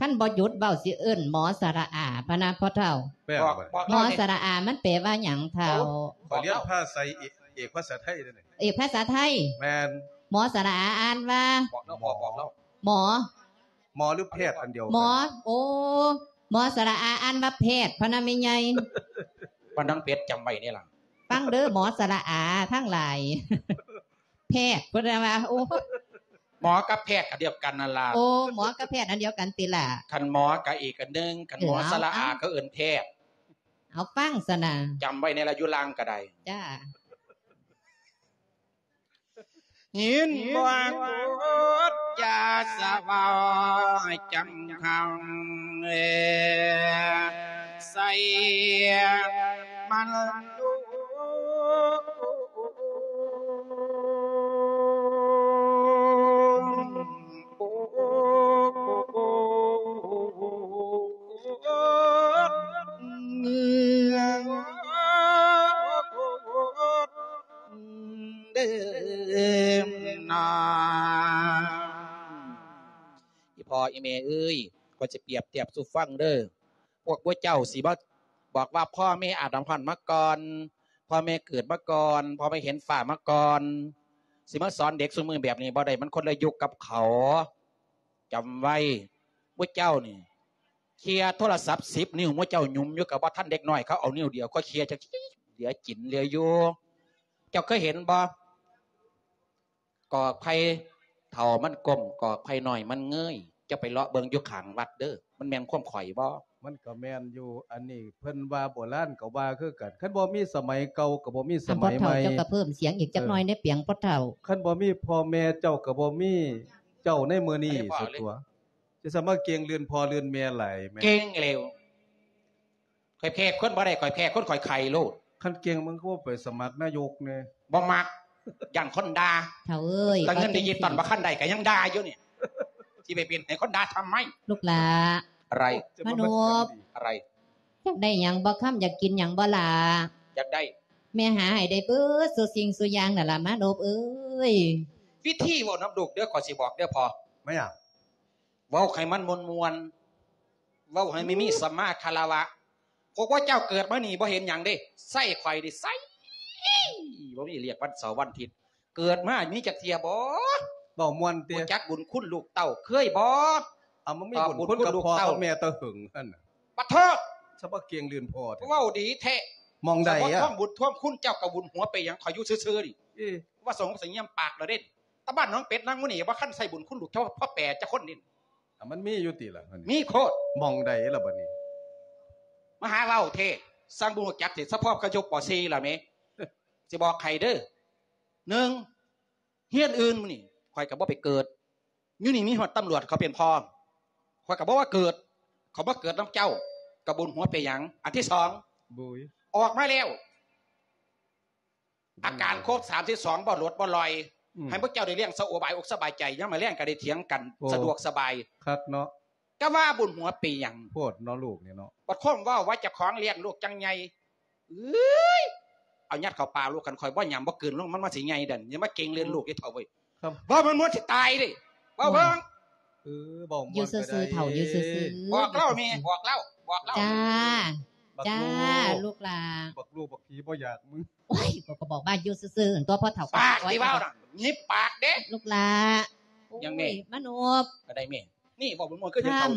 ຄັນບໍ່ຢຸດເວົ້າຊິເອີ້ນໝໍສະຫຼະອາ ພະນະພໍ່ເຖົ້າ. ບອກ ບອກ ໝໍສະຫຼະອາມັນແປວ່າຫຍັງເຖົ້າ? ຂ້ອຍຮຽນພາສາ ເອກ ເອກພາສາໄທເດ້ນີ້. ເອກພາສາໄທ? ແມ່ນ. ໝໍສະຫຼະອາອ່ານວ່າ? ບອກລາວ ບອກລາວ ໝໍ ໝໍ ຫຼືແພດອັນດຽວກັນ? ໝໍ ໂອ້ ໝໍສະຫຼະອາອ່ານວ່າແພດ ພະນະແມ່ໃຫຍ່. ບ້ານນາງເປັດ ຈຳໄວ້ເດີລະ ຟັງເດີໝໍສະຫຼະອາທັງຫຼາຍ ແພດ ເພິ່ນວ່າ ໂອ້ ໝໍກັບແພດອັນດຽວກັນນັ້ນລະ. ໂອ້ ໝໍກັບແພດອັນດຽວກັນຕິລະ? ຄັນໝໍກະອີກອັນໜຶ່ງ ຄັນໝໍສະຫຼະອາກະເອີ້ນແພດ. ເອົາ ຟັງຊັ້ນນະ ຈຳໄວ້ແດ່ລະ ຢູ່ລາງກະໄດ້. ຈ້າ. ຍິນບໍ່ກົດຢ່າສະເວົ້າຈຳຄຳ ໃສ່ມັນລູກ ເດີນາ. ອີພໍ່ອີແມ່ເອີຍ ຂ້ອຍຊິປຽບທຽບສູ່ຟັງເດີ. ພວກໝູ່ເຈົ້າຊິມາບອກວ່າ ພໍ່ແມ່ອາດຳພັນມາກ່ອນ, ພໍ່ແມ່ເກີດມາກ່ອນ, ພໍ່ແມ່ເຫັນຟ້າມາກ່ອນ, ຊິມາສອນເດັກຊຸມື້ແບບນີ້ບໍ່ໄດ້, ມັນຄົນລະຍຸກກັບເຂົາ. ຈຳໄວ້ ໝູ່ເຈົ້ານີ້ ເຄຍໂທລະສັບສິບນິ້ວ ໝູ່ເຈົ້າຫຍຸມຢູ່ ກໍບໍ່ທັນເດັກນ້ອຍເຂົາເອົານິ້ວດຽວກໍເຄຍ ຈັກເຫຼືອກິນເຫຼືອຢູ່. ເຈົ້າເຄີຍເຫັນບໍ່? ກອກໄຜ່ເຖົ້າມັນກົ້ມ ກອກໄຜ່ນ້ອຍມັນເງີຍ. ເຈົ້າໄປເລາະເບິ່ງຢູ່ຂ້າງວັດເດີ. ມັນແມ່ນຄວາມຂ້ອຍບໍ່? ມັນກໍແມ່ນຢູ່. ອັນນີ້ເພິ່ນວ່າໂບລານກໍວ່າຄືກັນ. ຄັນບໍ່ມີສະໄໝເກົ່າກໍບໍ່ມີສະໄໝໃໝ່. ທ່ານພໍ່ເຖົ້າເຈົ້າກໍເພີ່ມສຽງອີກຈັກໜ້ອຍແດ່ ປຽງພໍ່ເຖົ້າ. ເອີ ຄັນບໍ່ມີພໍ່ແມ່ເຈົ້າກໍບໍ່ມີເຈົ້າໃນມື້ນີ້ ສຸດຕົວະ. ຈະສາມາດເກັ່ງລື່ນພໍ່ລື່ນແມ່ຫຼາຍແມ່. ເກັ່ງແລ້ວ. ຂ້ອຍແພ້ຄົນບໍ່ໄດ້ ຂ້ອຍແພ້ຄົນຂ້ອຍໄຂ່ໂລດ. ຄັນເກັ່ງມັນກໍບໍ່ໄປສະໝັກນາຍົກແດ່. ບໍ່ມັກ ຢ້ານຄົນດ່າ. ເຖົ້າເອີຍ ແຕ່ເງິນດິຈິຕອນບໍ່ທັນໄດ້ກໍຍັງດ່າຢູ່ນີ້ ຊິໄປເປັນໃຫ້ຄົນດ່າທຳໄມ? ລູກຫຼ້າ. ອະໄລ? ມະນົບ. ອະໄລ? ຢາກໄດ້ຫຍັງບໍ່ຄຳ? ຢາກກິນຫຍັງບໍ່ຫຼ້າ? ຢາກໄດ້. ແມ່ຫາໃຫ້ໄດ້ເບິດສູ່ສິ່ງສູ່ຢ່າງນັ້ນລະມະນົບເອີຍ. ວິທີເວົ້ານຳລູກເດີ ຂ້ອຍຊິບອກເດີພໍ່. ແມ່ນຫຍັງ? ເວົ້າໃຫ້ມັນມ່ວນໆ ເວົ້າໃຫ້ມັນມີສຳມາຄາລະວະ. ພວກເຈົ້າເກີດມານີ້ບໍ່ເຫັນຫຍັງເດ້ ໃຊ້ຂ້ອຍນີ້ໃຊ້ ບໍ່ມີລຽກວັນເສົາວັນອາທິດ. ເກີດມາມີຈັກເທື່ອບໍ່ ເວົ້າມ່ວນຕິ ຮູ້ຈັກບຸນຄຸນລູກເຕົ້າເຄີຍບໍ່? ເອົາ ມັນມີບຸນຄຸນກັບພໍ່ກັບແມ່ແຕ່ຫຶງຫັ້ນນະ. ປະໂທດ ສະມາເກັ່ງລື່ນພໍ່ແທ້ ເວົ້າດີແທ້. ໝ່ອງໃດອະ? ສະມາທວງບຸນທວງຄຸນເຈົ້າກັບບຸນຫົວໄປຫຍັງ ຂ້ອຍຢູ່ຊື່ໆນີ້. ເອີ ວ່າສົງສັຍງຽມປາກລະເດ້. ຕາບ້ານໜອງເປັດນາງໝູນີ້ບໍ່ຄັນໃສ່ບຸນຄຸນລູກເຈົ້າພໍ່ແປຈັກຄົນນີ້. ອ່ະ ມັນມີຢູ່ຕິລະ? ມີໂຄດ. ໝ່ອງໃດລະບັດນີ້? ມາຫາເວົ້າເທ ຊ່າງບໍ່ຮູ້ຈັກເທ ສະເພາະກະຈົບ ປໍສີ່ລະແມ. ຊິບອກໃຫ້ເດີ ໜຶ່ງ ຮຽນອື່ນມື້ນີ້ ຂ້ອຍກໍບໍ່ໄປເກີດ. ຢູ່ນີ້ມີຮອດຕຳຫຼວດເຂົາເປັນພໍ່ ຂ້ອຍກໍບໍ່ວ່າເກີດ. ເຂົາມາເກີດນຳເຈົ້າ ກະບຸນຫົວເປັນຫຍັງ? ອັນທີສອງ ບຸຍ ອອກມາແລ້ວ ອາການຄົບສາມສິບສອງ ບໍ່ຫຼົດບໍ່ລ່ອຍ. ອືມ ໃຫ້ພວກເຈົ້າໄດ້ລ້ຽງສະໂອບາຍອົກສະບາຍໃຈ ຍາມມາແລງກໍໄດ້ຖຽງກັນ ໂອ້ ສະດວກສະບາຍ ຄັກເນາະ. ກະວ່າບຸນຫົວເປັນຫຍັງ? ໂພດເນາະລູກນີ້ເນາະ. ບັດຄົມເວົ້າວ່າເຈົ້າຂອງລ້ຽງລູກຈັ່ງໃຫຍ່. ເອີຍ ເອົາຍັດເຂົ້າປາກລູກ ຄັນຂ້ອຍບໍ່ຫຍຳບໍ່ກືນລົງ ມັນ ມັນຊິໃຫຍ່ເດ້. ຢ່າມາເກັ່ງເລື່ອນລູກເດ້ເຖົ້າເວີຍ. ເວົ້າມັນໝົດຊິຕາຍເດ້. ເວົ້າເບິ່ງ. ເອີ ເວົ້າມ່ວນ ຢູ່ຊື່ໆ ເຖົ້າຢູ່ຊື່ໆ. ບອກລາວແມ່ ບອກລາວ ບອກລາວ. ຈ້າ ຈ້າ ລູກຫຼ້າ. ບັກລູກບັກຜີບໍ່ຢາກມຶງ. ໂອ້ຍ ຂ້ອຍກໍບອກວ່າຢູ່ຊື່ໆ ຕົວະພໍ່ເຖົ້າ. ປາກທີ່ເວົ້ານະ ຫຍິບປາກເດ້ ລູກຫຼ້າ. ຫຍັງແມ່? ໂອ້ຍ ມະນົບ ກະໄດ້ແມ່. ນີ້ເວົ້າມ່ວນໆ ຄືເຫັນເຖົ້າ.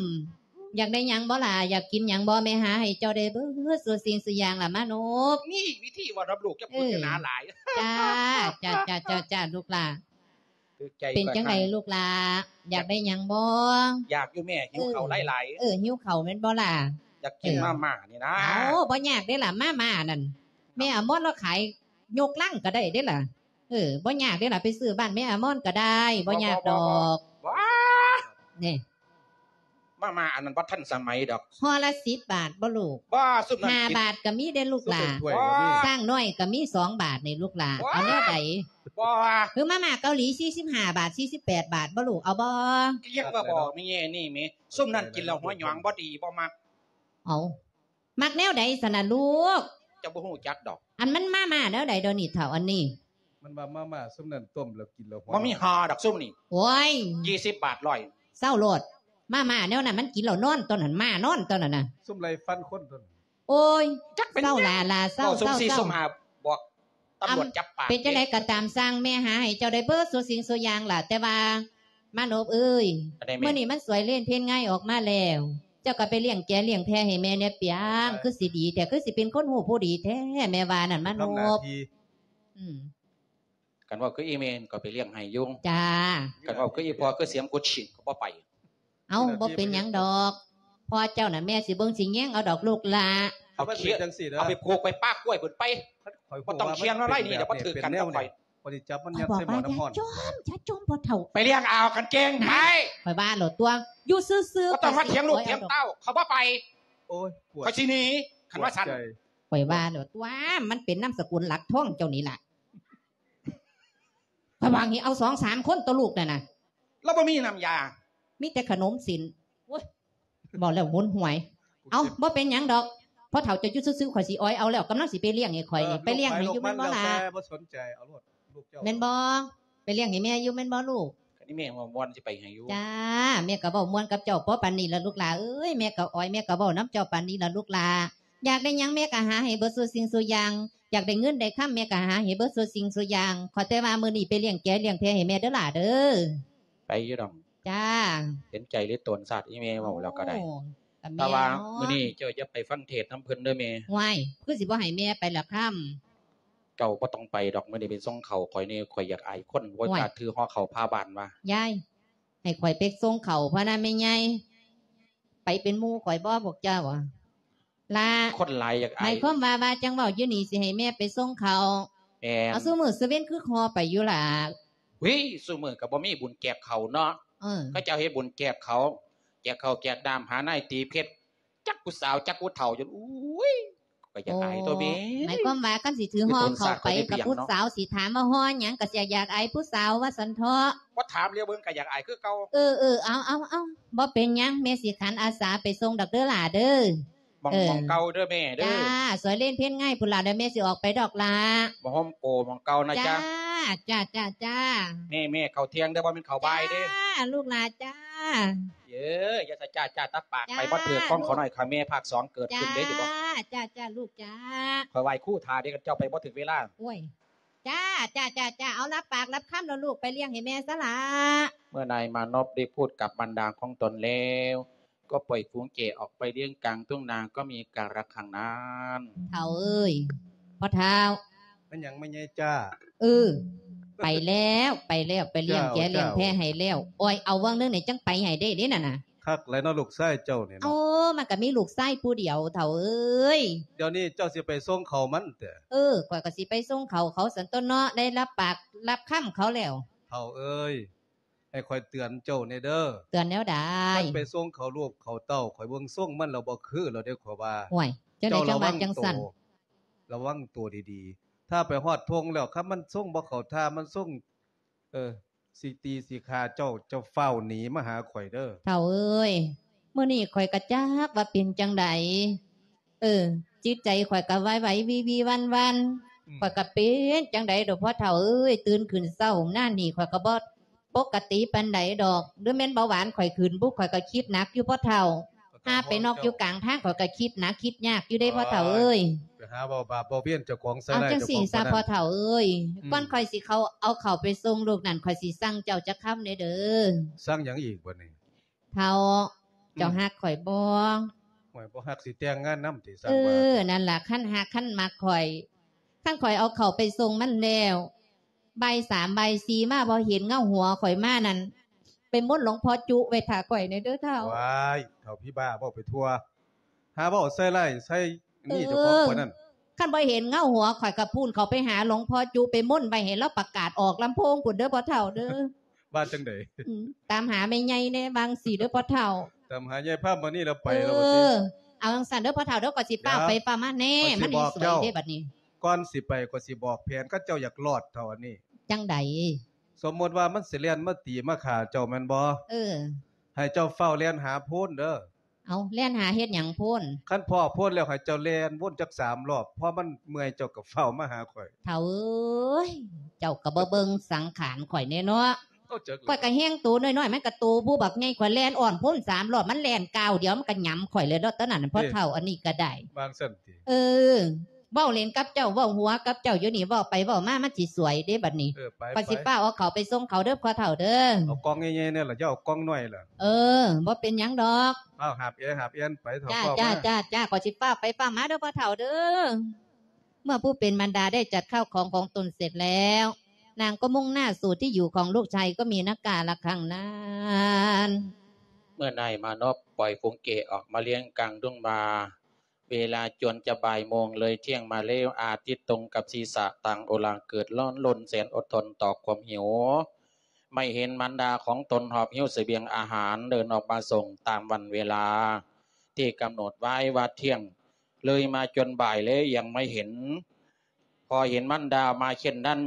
ຢາກໄດ້ຫຍັງບໍ່ຫຼ້າ? ຢາກກິນຫຍັງບໍ່? ແມ່ຫາໃຫ້ເຈົ້າໄດ້ເບິດສູ່ສິ່ງສູ່ຢ່າງລະມານົບ. ນີ້ວິທີເວົ້ານຳລູກ ຢ່າເວົ້າໜາຫຼາຍ. ເອີ ຈ້າ ຈ້າ ຈ້າ ລູກຫຼ້າ. ຖືກໃຈ ເປັນຈັ່ງໃດລູກຫຼ້າ? ຢາກໄດ້ຫຍັງບໍ່? ຢາກຢູ່ແມ່ ຫິວເຂົ້າຫຼາຍໆ. ເອີ ຫິວເຂົ້າແມ່ນບໍ່ຫຼ້າ? ຢາກກິນມາມ່ານີ້ນະ. ໂອ້ ບໍ່ຍາກເດ້ລະ ມາມ່ານັ້ນ ແມ່ອາມອນລາວຂາຍຍົກລັງກໍໄດ້ເດ້ລະ. ເອີ ບໍ່ຍາກເດ້ລະ ໄປຊື້ບ້ານແມ່ອາມອນກໍໄດ້ ບໍ່ຍາກດອກ. ນີ້ ມາມ່າອັນນັ້ນບໍ່ທັນສະໄໝດອກ. ຫໍ່ລະສິບບາດບໍ່ລູກ? ບໍ່ ຊຸມນັ້ນ ຫ້າບາດກໍມີເດ້ລູກຫຼ້າ. ຊ້າງນ້ອຍກໍມີສອງບາດນີ້ລູກຫຼ້າ. ເອົາແນວໃດ? ບໍ່ວ່າ ຄືມາມ່າເກົາຫຼີສີ່ສິບຫ້າບາດ ສີ່ສິບແປດບາດບໍ່ລູກ? ເອົາບໍ່? ກະຍັງວ່າບໍ່ ແມ່ນີ້ແມ່ ຊຸມນັ້ນກິນແລ້ວຫົວຫຍອງ ບໍ່ດີ ບໍ່ມັກ. ເອົາ ມັກແນວໃດຊັ້ນນະລູກ? ເຈົ້າບໍ່ຮູ້ຈັກດອກ. ອັນມັນມາມ່າແນວໃດດຽວນີ້ເຖົ້າ? ອັນນີ້ ມັນວ່າມາມ່າຊຸມນັ້ນຕົ້ມແລ້ວກິນແລ້ວຫົວ ບໍ່ມີຫາດອກຊຸມນີ້. ໂອ້ຍ ຊາວບາດ ຮ້ອຍ ເຊົາໂລດ. ມາມ່າແນວນັ້ນມັນກິນແລ້ວນອນຕົວນັ້ນ ມ້ານອນຕົວນັ້ນນະ ຊຸມໄລ່ຟັນຄົນຕົວນັ້ນ. ໂອ້ຍ ຈັກເປັນຫຍັງ ເຊົາຫຼ້າໆ ເຊົາ ເຊົາ ເຊົາ. ບອກຕຳຫຼວດຈັບປາກ. ເປັນຈັ່ງໃດກໍຕາມຊ່າງ ແມ່ຫາໃຫ້ເຈົ້າໄດ້ເບິດສູ່ສິ່ງສູ່ຢ່າງລະ ແຕ່ວ່າມານົບເອີຍ ມື້ນີ້ມັນສວຍເລນເພນງາຍອອກມາແລ້ວ ເຈົ້າກໍໄປລ້ຽງແກະລ້ຽງແພະໃຫ້ແມ່ແດ່ປຽງ. ຄືຊິດີແທ້ ຄືຊິເປັນຄົນຮູ້ຜູ້ດີແທ້ ແມ່ວ່ານັ້ນມານົບ. ອືມ ຄັນເວົ້າຄືອີແມ່ກໍໄປລ້ຽງໃຫ້ຢູ່. ຈ້າ ຄັນເວົ້າຄືອີພໍ່ ຄືສຽງກຸດຊິງກໍບໍ່ໄປ. ເອົ້າ ບໍ່ເປັນຫຍັງດອກ ພໍ່ເຈົ້ານະແມ່ຊິເບິ່ງຊິແຍງເອົາດອກລູກຫຼ້າ. ເອົາໄປ ເອົາໄປຜູກໄປປາກກ້ວຍພຸ້ນໄປ. ບໍ່ຕ້ອງຄຽນມາໄລ່ນີ້ດອກ ບໍ່ຖືກກັນກັບຂ້ອຍ. ຂ້ອຍຊິຈັບມັນຍັດໃສ່ໝໍ້ນ້ຳຮ້ອນ. ຢ່າຈມ ຢ່າຈມ ພໍ່ເຖົ້າ. ໄປລ້ຽງເອົາກາງເກງໄປ. ຂ້ອຍວ່າໂລດຕົວະ ຢູ່ຊື່ໆ. ບໍ່ຕ້ອງມາຖຽງລູກຖຽງເຕົ້າ ຂ້ອຍບໍ່ໄປ. ໂອ້ຍ ຂ້ອຍຊິໜີ ຄັນວ່າຊັ້ນ. ຂ້ອຍວ່າໂລດຕົວະ ມັນເປັນນາມສະກຸນຫຼັກທອງເຈົ້ານີ້ລະ. ລະຫວ່າງນີ້ເອົາສອງສາມຄົນຕົວະລູກນັ້ນນະ. ລາວບໍ່ມີນ້ຳຢາ ມີແຕ່ຂະໜົມຊີ້ນ. ໂອ້ຍ ເວົ້າແລ້ວຫຸນຫວຍ. ເອົ້າ ບໍ່ເປັນຫຍັງດອກ ພໍ່ເຖົ້າເຈົ້າຢູ່ຊື່ໆ ຂ້ອຍຊິອອຍເອົາແລ້ວ. ກຳລັງຊິໄປລ້ຽງໃຫ້ຂ້ອຍນີ້ ໄປລ້ຽງໃຫ້ຢູ່ແມ່ນບໍ່ລະ? ບໍ່ສົນໃຈ ເອົາໂລດລູກເຈົ້າ. ແມ່ນບໍ່? ໄປລ້ຽງໃຫ້ແມ່ຢູ່ແມ່ນບໍ່ລູກ? ຄັນນີ້ແມ່ເວົ້າມ່ວນຊິໄປໃຫ້ຢູ່. ຈ້າ ແມ່ກໍເວົ້າມ່ວນກັບເຈົ້າພໍປານນີ້ລະລູກຫຼ້າເອີຍ. ແມ່ກໍອອຍ ແມ່ກໍເວົ້ານຳເຈົ້າປານນີ້ລະລູກຫຼ້າ. ຢາກໄດ້ຫຍັງແມ່ກໍຫາໃຫ້ເບິດສູ່ສິ່ງສູ່ຢ່າງ. ຢາກໄດ້ເງິນໄດ້ຄຳແມ່ກໍຫາໃຫ້ເບິດສູ່ສິ່ງສູ່ຢ່າງ. ຂໍແຕ່ວ່າມື້ນີ້ໄປລ້ຽງແກະລ້ຽງແພະໃຫ້ແມ່ເດີຫຼ້າເດີ. ໄປຢູ່ດອກ. ຈ້າ ເຫັນໃຈເລີຍໂຕນຊາດ ອີແມ່ເວົ້າແລ້ວກໍໄດ້. ໂອ້ ແຕ່ວ່າມື້ນີ້ເຈົ້າຢ່າໄປຟັງເທດນຳເພິ່ນເດີແມ່. ຫວຍ ຄືຊິບໍ່ໃຫ້ແມ່ໄປລະຄຳ. ເຈົ້າບໍ່ຕ້ອງໄປດອກ ມື້ນີ້ໄປສົ່ງເຂົ້າຂ້ອຍແດ່ ຂ້ອຍຢາກອາຍຄົນ. ບໍ່ກ້າຖືຫໍ່ເຂົ້າພາບ້ານວ່າ. ຍາຍ ໃຫ້ຂ້ອຍໄປສົ່ງເຂົ້າພະນະແມ່ໃຫຍ່. ໄປເປັນໝູ່ຂ້ອຍບໍ່ພວກເຈົ້າ? ລະ ຄົນຫຼາຍຢາກອາຍ. ໝາຍຄວາມວ່າ ວ່າຈັ່ງເວົ້າຢູ່ນີ້ ຊິໃຫ້ແມ່ໄປສົ່ງເຂົ້າ. ແມ່ນ. ເອົາ ຊຸມື້ຊຸເວັນຄືຫໍ່ໄປຢູ່ລະ. ຫຸຍ ຊຸມື້ກໍບໍ່ມີບຸນແຈກເຂົ້າເນາະ. ເອີ ເຂົາເຈົ້າເຮັດບຸນແຈກເຂົ້າ ແຈກເຂົ້າແຈກນ້ຳ ຫານາຍຕີເພັດ ຈັກຜູ້ສາວຈັກຜູ້ເຖົ້າ ຈົນ ອຸ້ຍ ຂ້ອຍຢາກອາຍຕົວແມ່. ໝາຍຄວາມວ່າ ຄັນຊິຖືຫໍ່ເຂົ້າໄປກັບຜູ້ສາວ ຊິຖາມວ່າຫໍ່ຫຍັງ ກໍຊິຢາກອາຍຜູ້ສາວວ່າຊັ້ນເຖາະ. ບໍ່ຖາມຫຼຽວເບິ່ງກໍຢາກອາຍຄືເກົ່າ. ເອີໆ ເອົາໆໆ ບໍ່ເປັນຫຍັງ ແມ່ຊິຂັນອາສາໄປສົ່ງດອກເດີຫຼ້າເດີ. ໝ່ອງ ເອີ ໝ່ອງເກົ່າເດີແມ່ເດີ. ຈ້າ ສວຍເລນເພນງາຍພຸ້ນລະ ດຽວແມ່ຊິອອກໄປດອກລະ. ໝ່ອງໂຮມໂກ ໝ່ອງເກົ່ານະ. ຈ້າ ຈ້າ ຈ້າ ຈ້າ ຈ້າ. ແມ່ ແມ່ ເຂົ້າທ່ຽງເດີ ບໍ່ແມ່ນເຂົ້າບ່າຍເດີ. ຈ້າ ລູກຫຼ້າຈ້າ. ເອີ ຢ່າສະຈ້າຈ້າ ຕາປາກ. ໄປບໍ່ຖືກຂອງເຂົາໜ້ອຍຂ້າແມ່ພາກສອງເກີດຂຶ້ນເດ້ ຢູ່ບໍ່? ຈ້າ ຈ້າ ລູກຈ້າ. ຂ້ອຍໄຫວ້ຄູຖ້າເດ້ ຄັນເຈົ້າໄປບໍ່ຖືກເວລາ. ໂອ້ຍ ຈ້າ ຈ້າ ຈ້າ ຈ້າ. ເອົາ ຮັບປາກຮັບຄຳແລ້ວລູກ ໄປລ້ຽງໃຫ້ແມ່ຊະລະ. ເມື່ອນາຍມານົບໄດ້ພູດກັບບັນດາຂອງຕົນແລ້ວ ກໍປ່ອຍຝູງແກະອອກໄປລ້ຽງກາງທົ່ງນາ ກໍມີກາລະຄັງນັ້ນ. ເຖົ້າເອີຍ ພໍ່ເຖົ້າ. ແມ່ນຫຍັງແມ່ໃຫຍ່ຈ້າ? ເອີ ໄປແລ້ວ ໄປແລ້ວ ໄປລ້ຽງແກະລ້ຽງແພະໃຫ້ແລ້ວ. ໂອ້ຍ ເອົາວັງໜຶ່ງນີ້ຈັ່ງໄປໃຫ້ໄດ້ເດ້ນັ້ນນະ. ຄັກຫຼາຍເນາະ ລູກຊາຍເຈົ້ານີ້ເນາະ. ໂອ້ ມັນກໍມີລູກຊາຍຜູ້ດຽວ ເຖົ້າເອີຍ. ດຽວນີ້ເຈົ້າຊິໄປສົ່ງເຂົ້າມັນເຕີ? ເອີ ຂ້ອຍກໍຊິໄປສົ່ງເຂົ້າເຂົາຊັ້ນຕົວະເນາະ ໄດ້ຮັບປາກຮັບຄຳເຂົາແລ້ວ. ເຖົ້າເອີຍ ໃຫ້ຂ້ອຍເຕືອນເຈົ້າແດ່ເດີ. ເຕືອນແນວໃດ? ມັນໄປສົ່ງເຂົ້າລູກເຂົ້າເຕົ້າ ຂ້ອຍເບິ່ງຊົງມັນແລ້ວບໍ່ຄືແລ້ວເດ້ ຂ້ອຍວ່າ. ໂອ້ຍ ຈັ່ງໃດຈັ່ງວ່າຈັ່ງຊັ້ນ? ລະວັງໂຕດີໆ ຖ້າໄປຮອດທົ່ງແລ້ວ ຄັນມັນຊົງບໍ່ເຂົ້າທ່າ ມັນຊົງ ເອີ ຊິຕີຊິຂ້າເຈົ້າ ເຈົ້າຟ້າວໜີມາຫາຂ້ອຍເດີ. ເຖົ້າເອີຍ ມື້ນີ້ຂ້ອຍກໍຈັກວ່າເປັນຈັ່ງໃດ. ເອີ ຈິດໃຈຂ້ອຍກໍໄຫວໆ ວິ່ວໆ ວັ່ນໆ. ອືມ ຂ້ອຍກໍເປັນຈັ່ງໃດດອກພໍ່ເຖົ້າເອີຍ ຕື່ນຂຶ້ນເຊົ້າມານີ້ ຂ້ອຍກໍບໍ່ປົກກະຕິປານໃດດອກ. ຫຼືແມ່ນເບົາຫວານຂ້ອຍຂຶ້ນບຸ ຂ້ອຍກໍຄິດໜັກຢູ່ພໍ່ເຖົ້າ. ຫາໄປນອກຢູ່ກາງທາງ ຂ້ອຍກໍຄິດໜັກຄິດຍາກຢູ່ເດ້ພໍ່ເຖົ້າເອີຍ. ໄປຫາເວົ້າບາບເວົ້າວຽນເຈົ້າຂອງໃສ່ຮ້າຍເຈົ້າຂອງ. ເອົາຈັ່ງຊີ້ຊະພໍ່ເຖົ້າເອີຍ. ອືມ ກ່ອນຂ້ອຍຊິເຂົ້າ ເອົາເຂົ້າໄປສົ່ງລູກນັ້ນ ຂ້ອຍຊິສັ່ງເຈົ້າຈັກຄຳແດ່ເດີ. ສັ່ງຫຍັງອີກບັດນີ້? ເຖົ້າ ເຈົ້າ ອືມ ຮັກຂ້ອຍບໍ່? ໂອ້ຍ ບໍ່ຮັກຊິແຕ່ງງານນຳຕິ? ເອີ ວ່າ ນັ້ນລະ ຄັນຮັກຄັນມັກຂ້ອຍ ຄັນຂ້ອຍເອົາເຂົ້າໄປສົ່ງມັນແລ້ວ ບ່າຍສາມບ່າຍສີ່ມາ ບໍ່ເຫັນເງົາຫົວຂ້ອຍມານັ້ນ ໄປມົນຫຼວງພໍ່ຈຸໄວ້ຖ້າຂ້ອຍແດ່ເດີເຖົ້າ. ວ້າຍ ເຖົ້າຜີບ້າ ເວົ້າໄປທົ່ວ ຫາເວົ້າໃສ່ຮ້າຍໃສ່ ນີ້ເຈົ້າຂອງ ເອີ ຂ້ອຍນັ້ນ ຄັນບໍ່ເຫັນເງົາຫົວຂ້ອຍກໍພຸ້ນ ເຂົ້າໄປຫາຫຼວງພໍ່ຈຸ ໄປມົນໄວ້ໃຫ້ລາວປະກາດອອກລຳໂພງພຸ້ນເດີພໍ່ເຖົ້າເດີ. ວ່າຈັ່ງໃດ? ອືມ ຕາມຫາແມ່ໃຫຍ່ແດ່ ວ່າຈັ່ງຊີ້ເດີພໍ່ເຖົ້າ. ຕາມຫາຍາຍພາມມານີ້ແລ້ວໄປແລ້ວບໍ່ຕິ? ເອີ ເອົາຈັ່ງຊັ້ນເດີພໍ່ເຖົ້າເດີ ຂ້ອຍຊິຟ້າວໄປຟ້າວມາແດ່ ມັນຊິສວຍເດ້ບັດນີ້. ກ່ອນຊິໄປ ຂ້ອຍຊິບອກແຜນ ຄັນເຈົ້າຢາກລອດເທົ່າອັນນີ້. ຈັ່ງໃດ? ສົມມຸດວ່າມັນຊິແລ່ນມາຕີມາຂ້າເຈົ້າແມ່ນບໍ່? ເອີ ໃຫ້ເຈົ້າຟ້າວແລ່ນຫາໂພນເດີ. ເອົາ ແລ່ນຫາເຮັດຫຍັງໂພນ? ຄັນພໍ້ໂພນແລ້ວ ໃຫ້ເຈົ້າແລ່ນວົນຈັກສາມລອບ ພໍມັນເມື່ອຍເຈົ້າກໍຟ້າວມາຫາຂ້ອຍ. ເຖົ້າເອີຍ ເຈົ້າກໍບໍ່ເບິ່ງສັງຂານຂ້ອຍແດ່ເນາະ. ໂອ້ ຈັກ ຂ້ອຍກໍແຮງໂຕນ້ອຍໆ ມັນກໍໂຕຜູ້ບັກໃຫຍ່ ຂ້ອຍແລ່ນອ້ອມໂພນສາມລອບ ມັນແລ່ນກ້າວດຽວ ມັນກໍຫຍຳຂ້ອຍແລ້ວເນາະ ຕອນນັ້ນນະ ເອີ ພໍ່ເຖົ້າ ອັນນີ້ກໍໄດ້. ວາງຊັ້ນຕິ? ເອີ ເວົ້າຫຼິ້ນກັບເຈົ້າ ເວົ້າຫົວກັບເຈົ້າຢູ່ນີ້ ເວົ້າໄປເວົ້າມາ ມັນຊິສວຍເດ້ບັດນີ້. ເອີ ໄປ ຂ້ອຍຊິ ໄປ ຟ້າວເອົາເຂົ້າໄປສົ່ງເຂົາເດີພໍ່ເຖົ້າເດີ. ເອົາກ່ອງໃຫຍ່ໆແດ່ລະ ຢ່າເອົາກ່ອງນ້ອຍລະ. ເອີ ບໍ່ເປັນຫຍັງດອກ. ເອົາຫາບແອຫາບແອນໄປເຖົ້າ. ຈ້າ ຈ້າ ຈ້າ ຂ້ອຍຊິຟ້າວໄປຟ້າວມາເດີພໍ່ເຖົ້າເດີ. ເມື່ອຜູ້ເປັນມານດາໄດ້ຈັດເຂົ້າຂອງຂອງຕົນເສັດແລ້ວ ນາງກໍມຸ່ງໜ້າສູ່ທີ່ຢູ່ຂອງລູກຊາຍກໍມີນະກາລະຄັງນັ້ນ. ເມື່ອນາຍມານົບປ່ອຍຝູງເກອອກມາລ້ຽງກາງດົງວ່າ ເວລາຈົນຈະບ່າຍໂມງເລີຍທ່ຽງມາແລ້ວ ອາທິດຕົງກັບສີສະຕ່າງໂອລາງເກີດຮ້ອນລົນແສນອົດທົນຕໍ່ຄວາມຫິວ. ໄມ່ເຫັນມານດາຂອງຕົນຫອບຫິ້ວສະບຽງອາຫານເດີນອອກມາສົ່ງຕາມວັນເວລາທີ່ກຳນົດໄວ້ວ່າທ່ຽງ ເລີຍມາຈົນບ່າຍແລ້ວຍັງໄມ່ເຫັນ. ພໍເຫັນມານດາມາເຊັ່ນນັ້ນ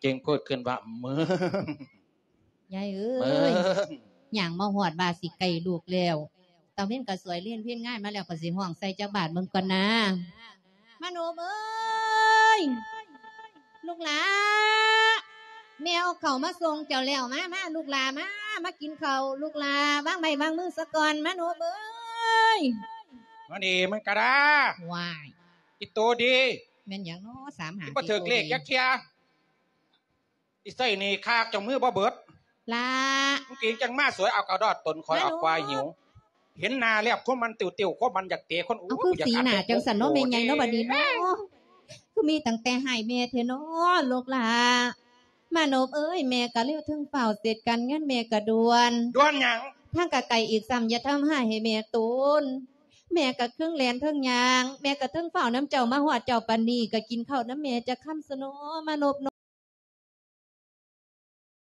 ຈຶ່ງໂພດຂຶ້ນວ່າ ເມີງ ຍາຍເອີຍ ເມີງ ຍ່າງມາຮອດວ່າຊິໃກ້ລູກແລ້ວ ຕາເວັນກໍສວຍເລນເພັນງາຍມາແລ້ວ ກໍຊິຮ້ອງໃສ່ຈັກບາດເບິ່ງກ່ອນນາ. ມາໂນບເອີຍ ລູກຫຼ້າ ແມ່ເອົາເຂົ້າມາສົ່ງເຈົ້າແລ້ວ ມາ ມາ ລູກຫຼ້າ ມາ ມາກິນເຂົ້າ ລູກຫຼ້າ ວາງໄມ້ວາງມືສາກ່ອນ ມາໂນບເອີຍ. ມານີ້ມັນກະດາ ວ້າຍ ອີໂຕດີ ແມ່ນຫຍັງເນາະ ສາມຫ້າ ບໍ່ຖືກເລກຈັກເທື່ອ ອີໃສ່ໜີ້ຄາກເຈົ້າມືບໍ່ເບິດ ຫຼ້າ ມຶງກິນຈັ່ງມາສວຍເອົາກະດອດຕົນຂ້ອຍເອົາຄວາຍຫິວ ເຫັນໜ້າແລ້ວຄວາມມັນຕິວໆ ຄວາມມັນຢາກເຕະຄົນ ໂອ້ຍ ເອົາຄືສີໜ້າຈັ່ງຊັ້ນເນາະ ແມ່ໃຫຍ່ເນາະ ບັດນີ້ເນາະ ຄືມີຕັ້ງແຕ່ໃຫ້ແມ່ແທ້ເນາະ ລູກຫຼ້າ. ມານົບເອີຍ ແມ່ກະເລວເທິງຟ້າວເສັດການງານແມ່ກະດ່ວນ ດ່ວນຫຍັງ ທາງກະໄກອີກຊ້ຳ ຢ່າທຳຮ້າຍໃຫ້ແມ່ໂຕນ ແມ່ກະເຄິ່ງແລ່ນເທິງຍ່າງ ແມ່ກະເທິງຟ້າວນຳເຈົ້າ ມາຮອດເຈົ້າປານນີ້ ກະກິນເຂົ້ານຳແມ່ຈັກຄຳຊະເນາະ ມານົບເນາະ.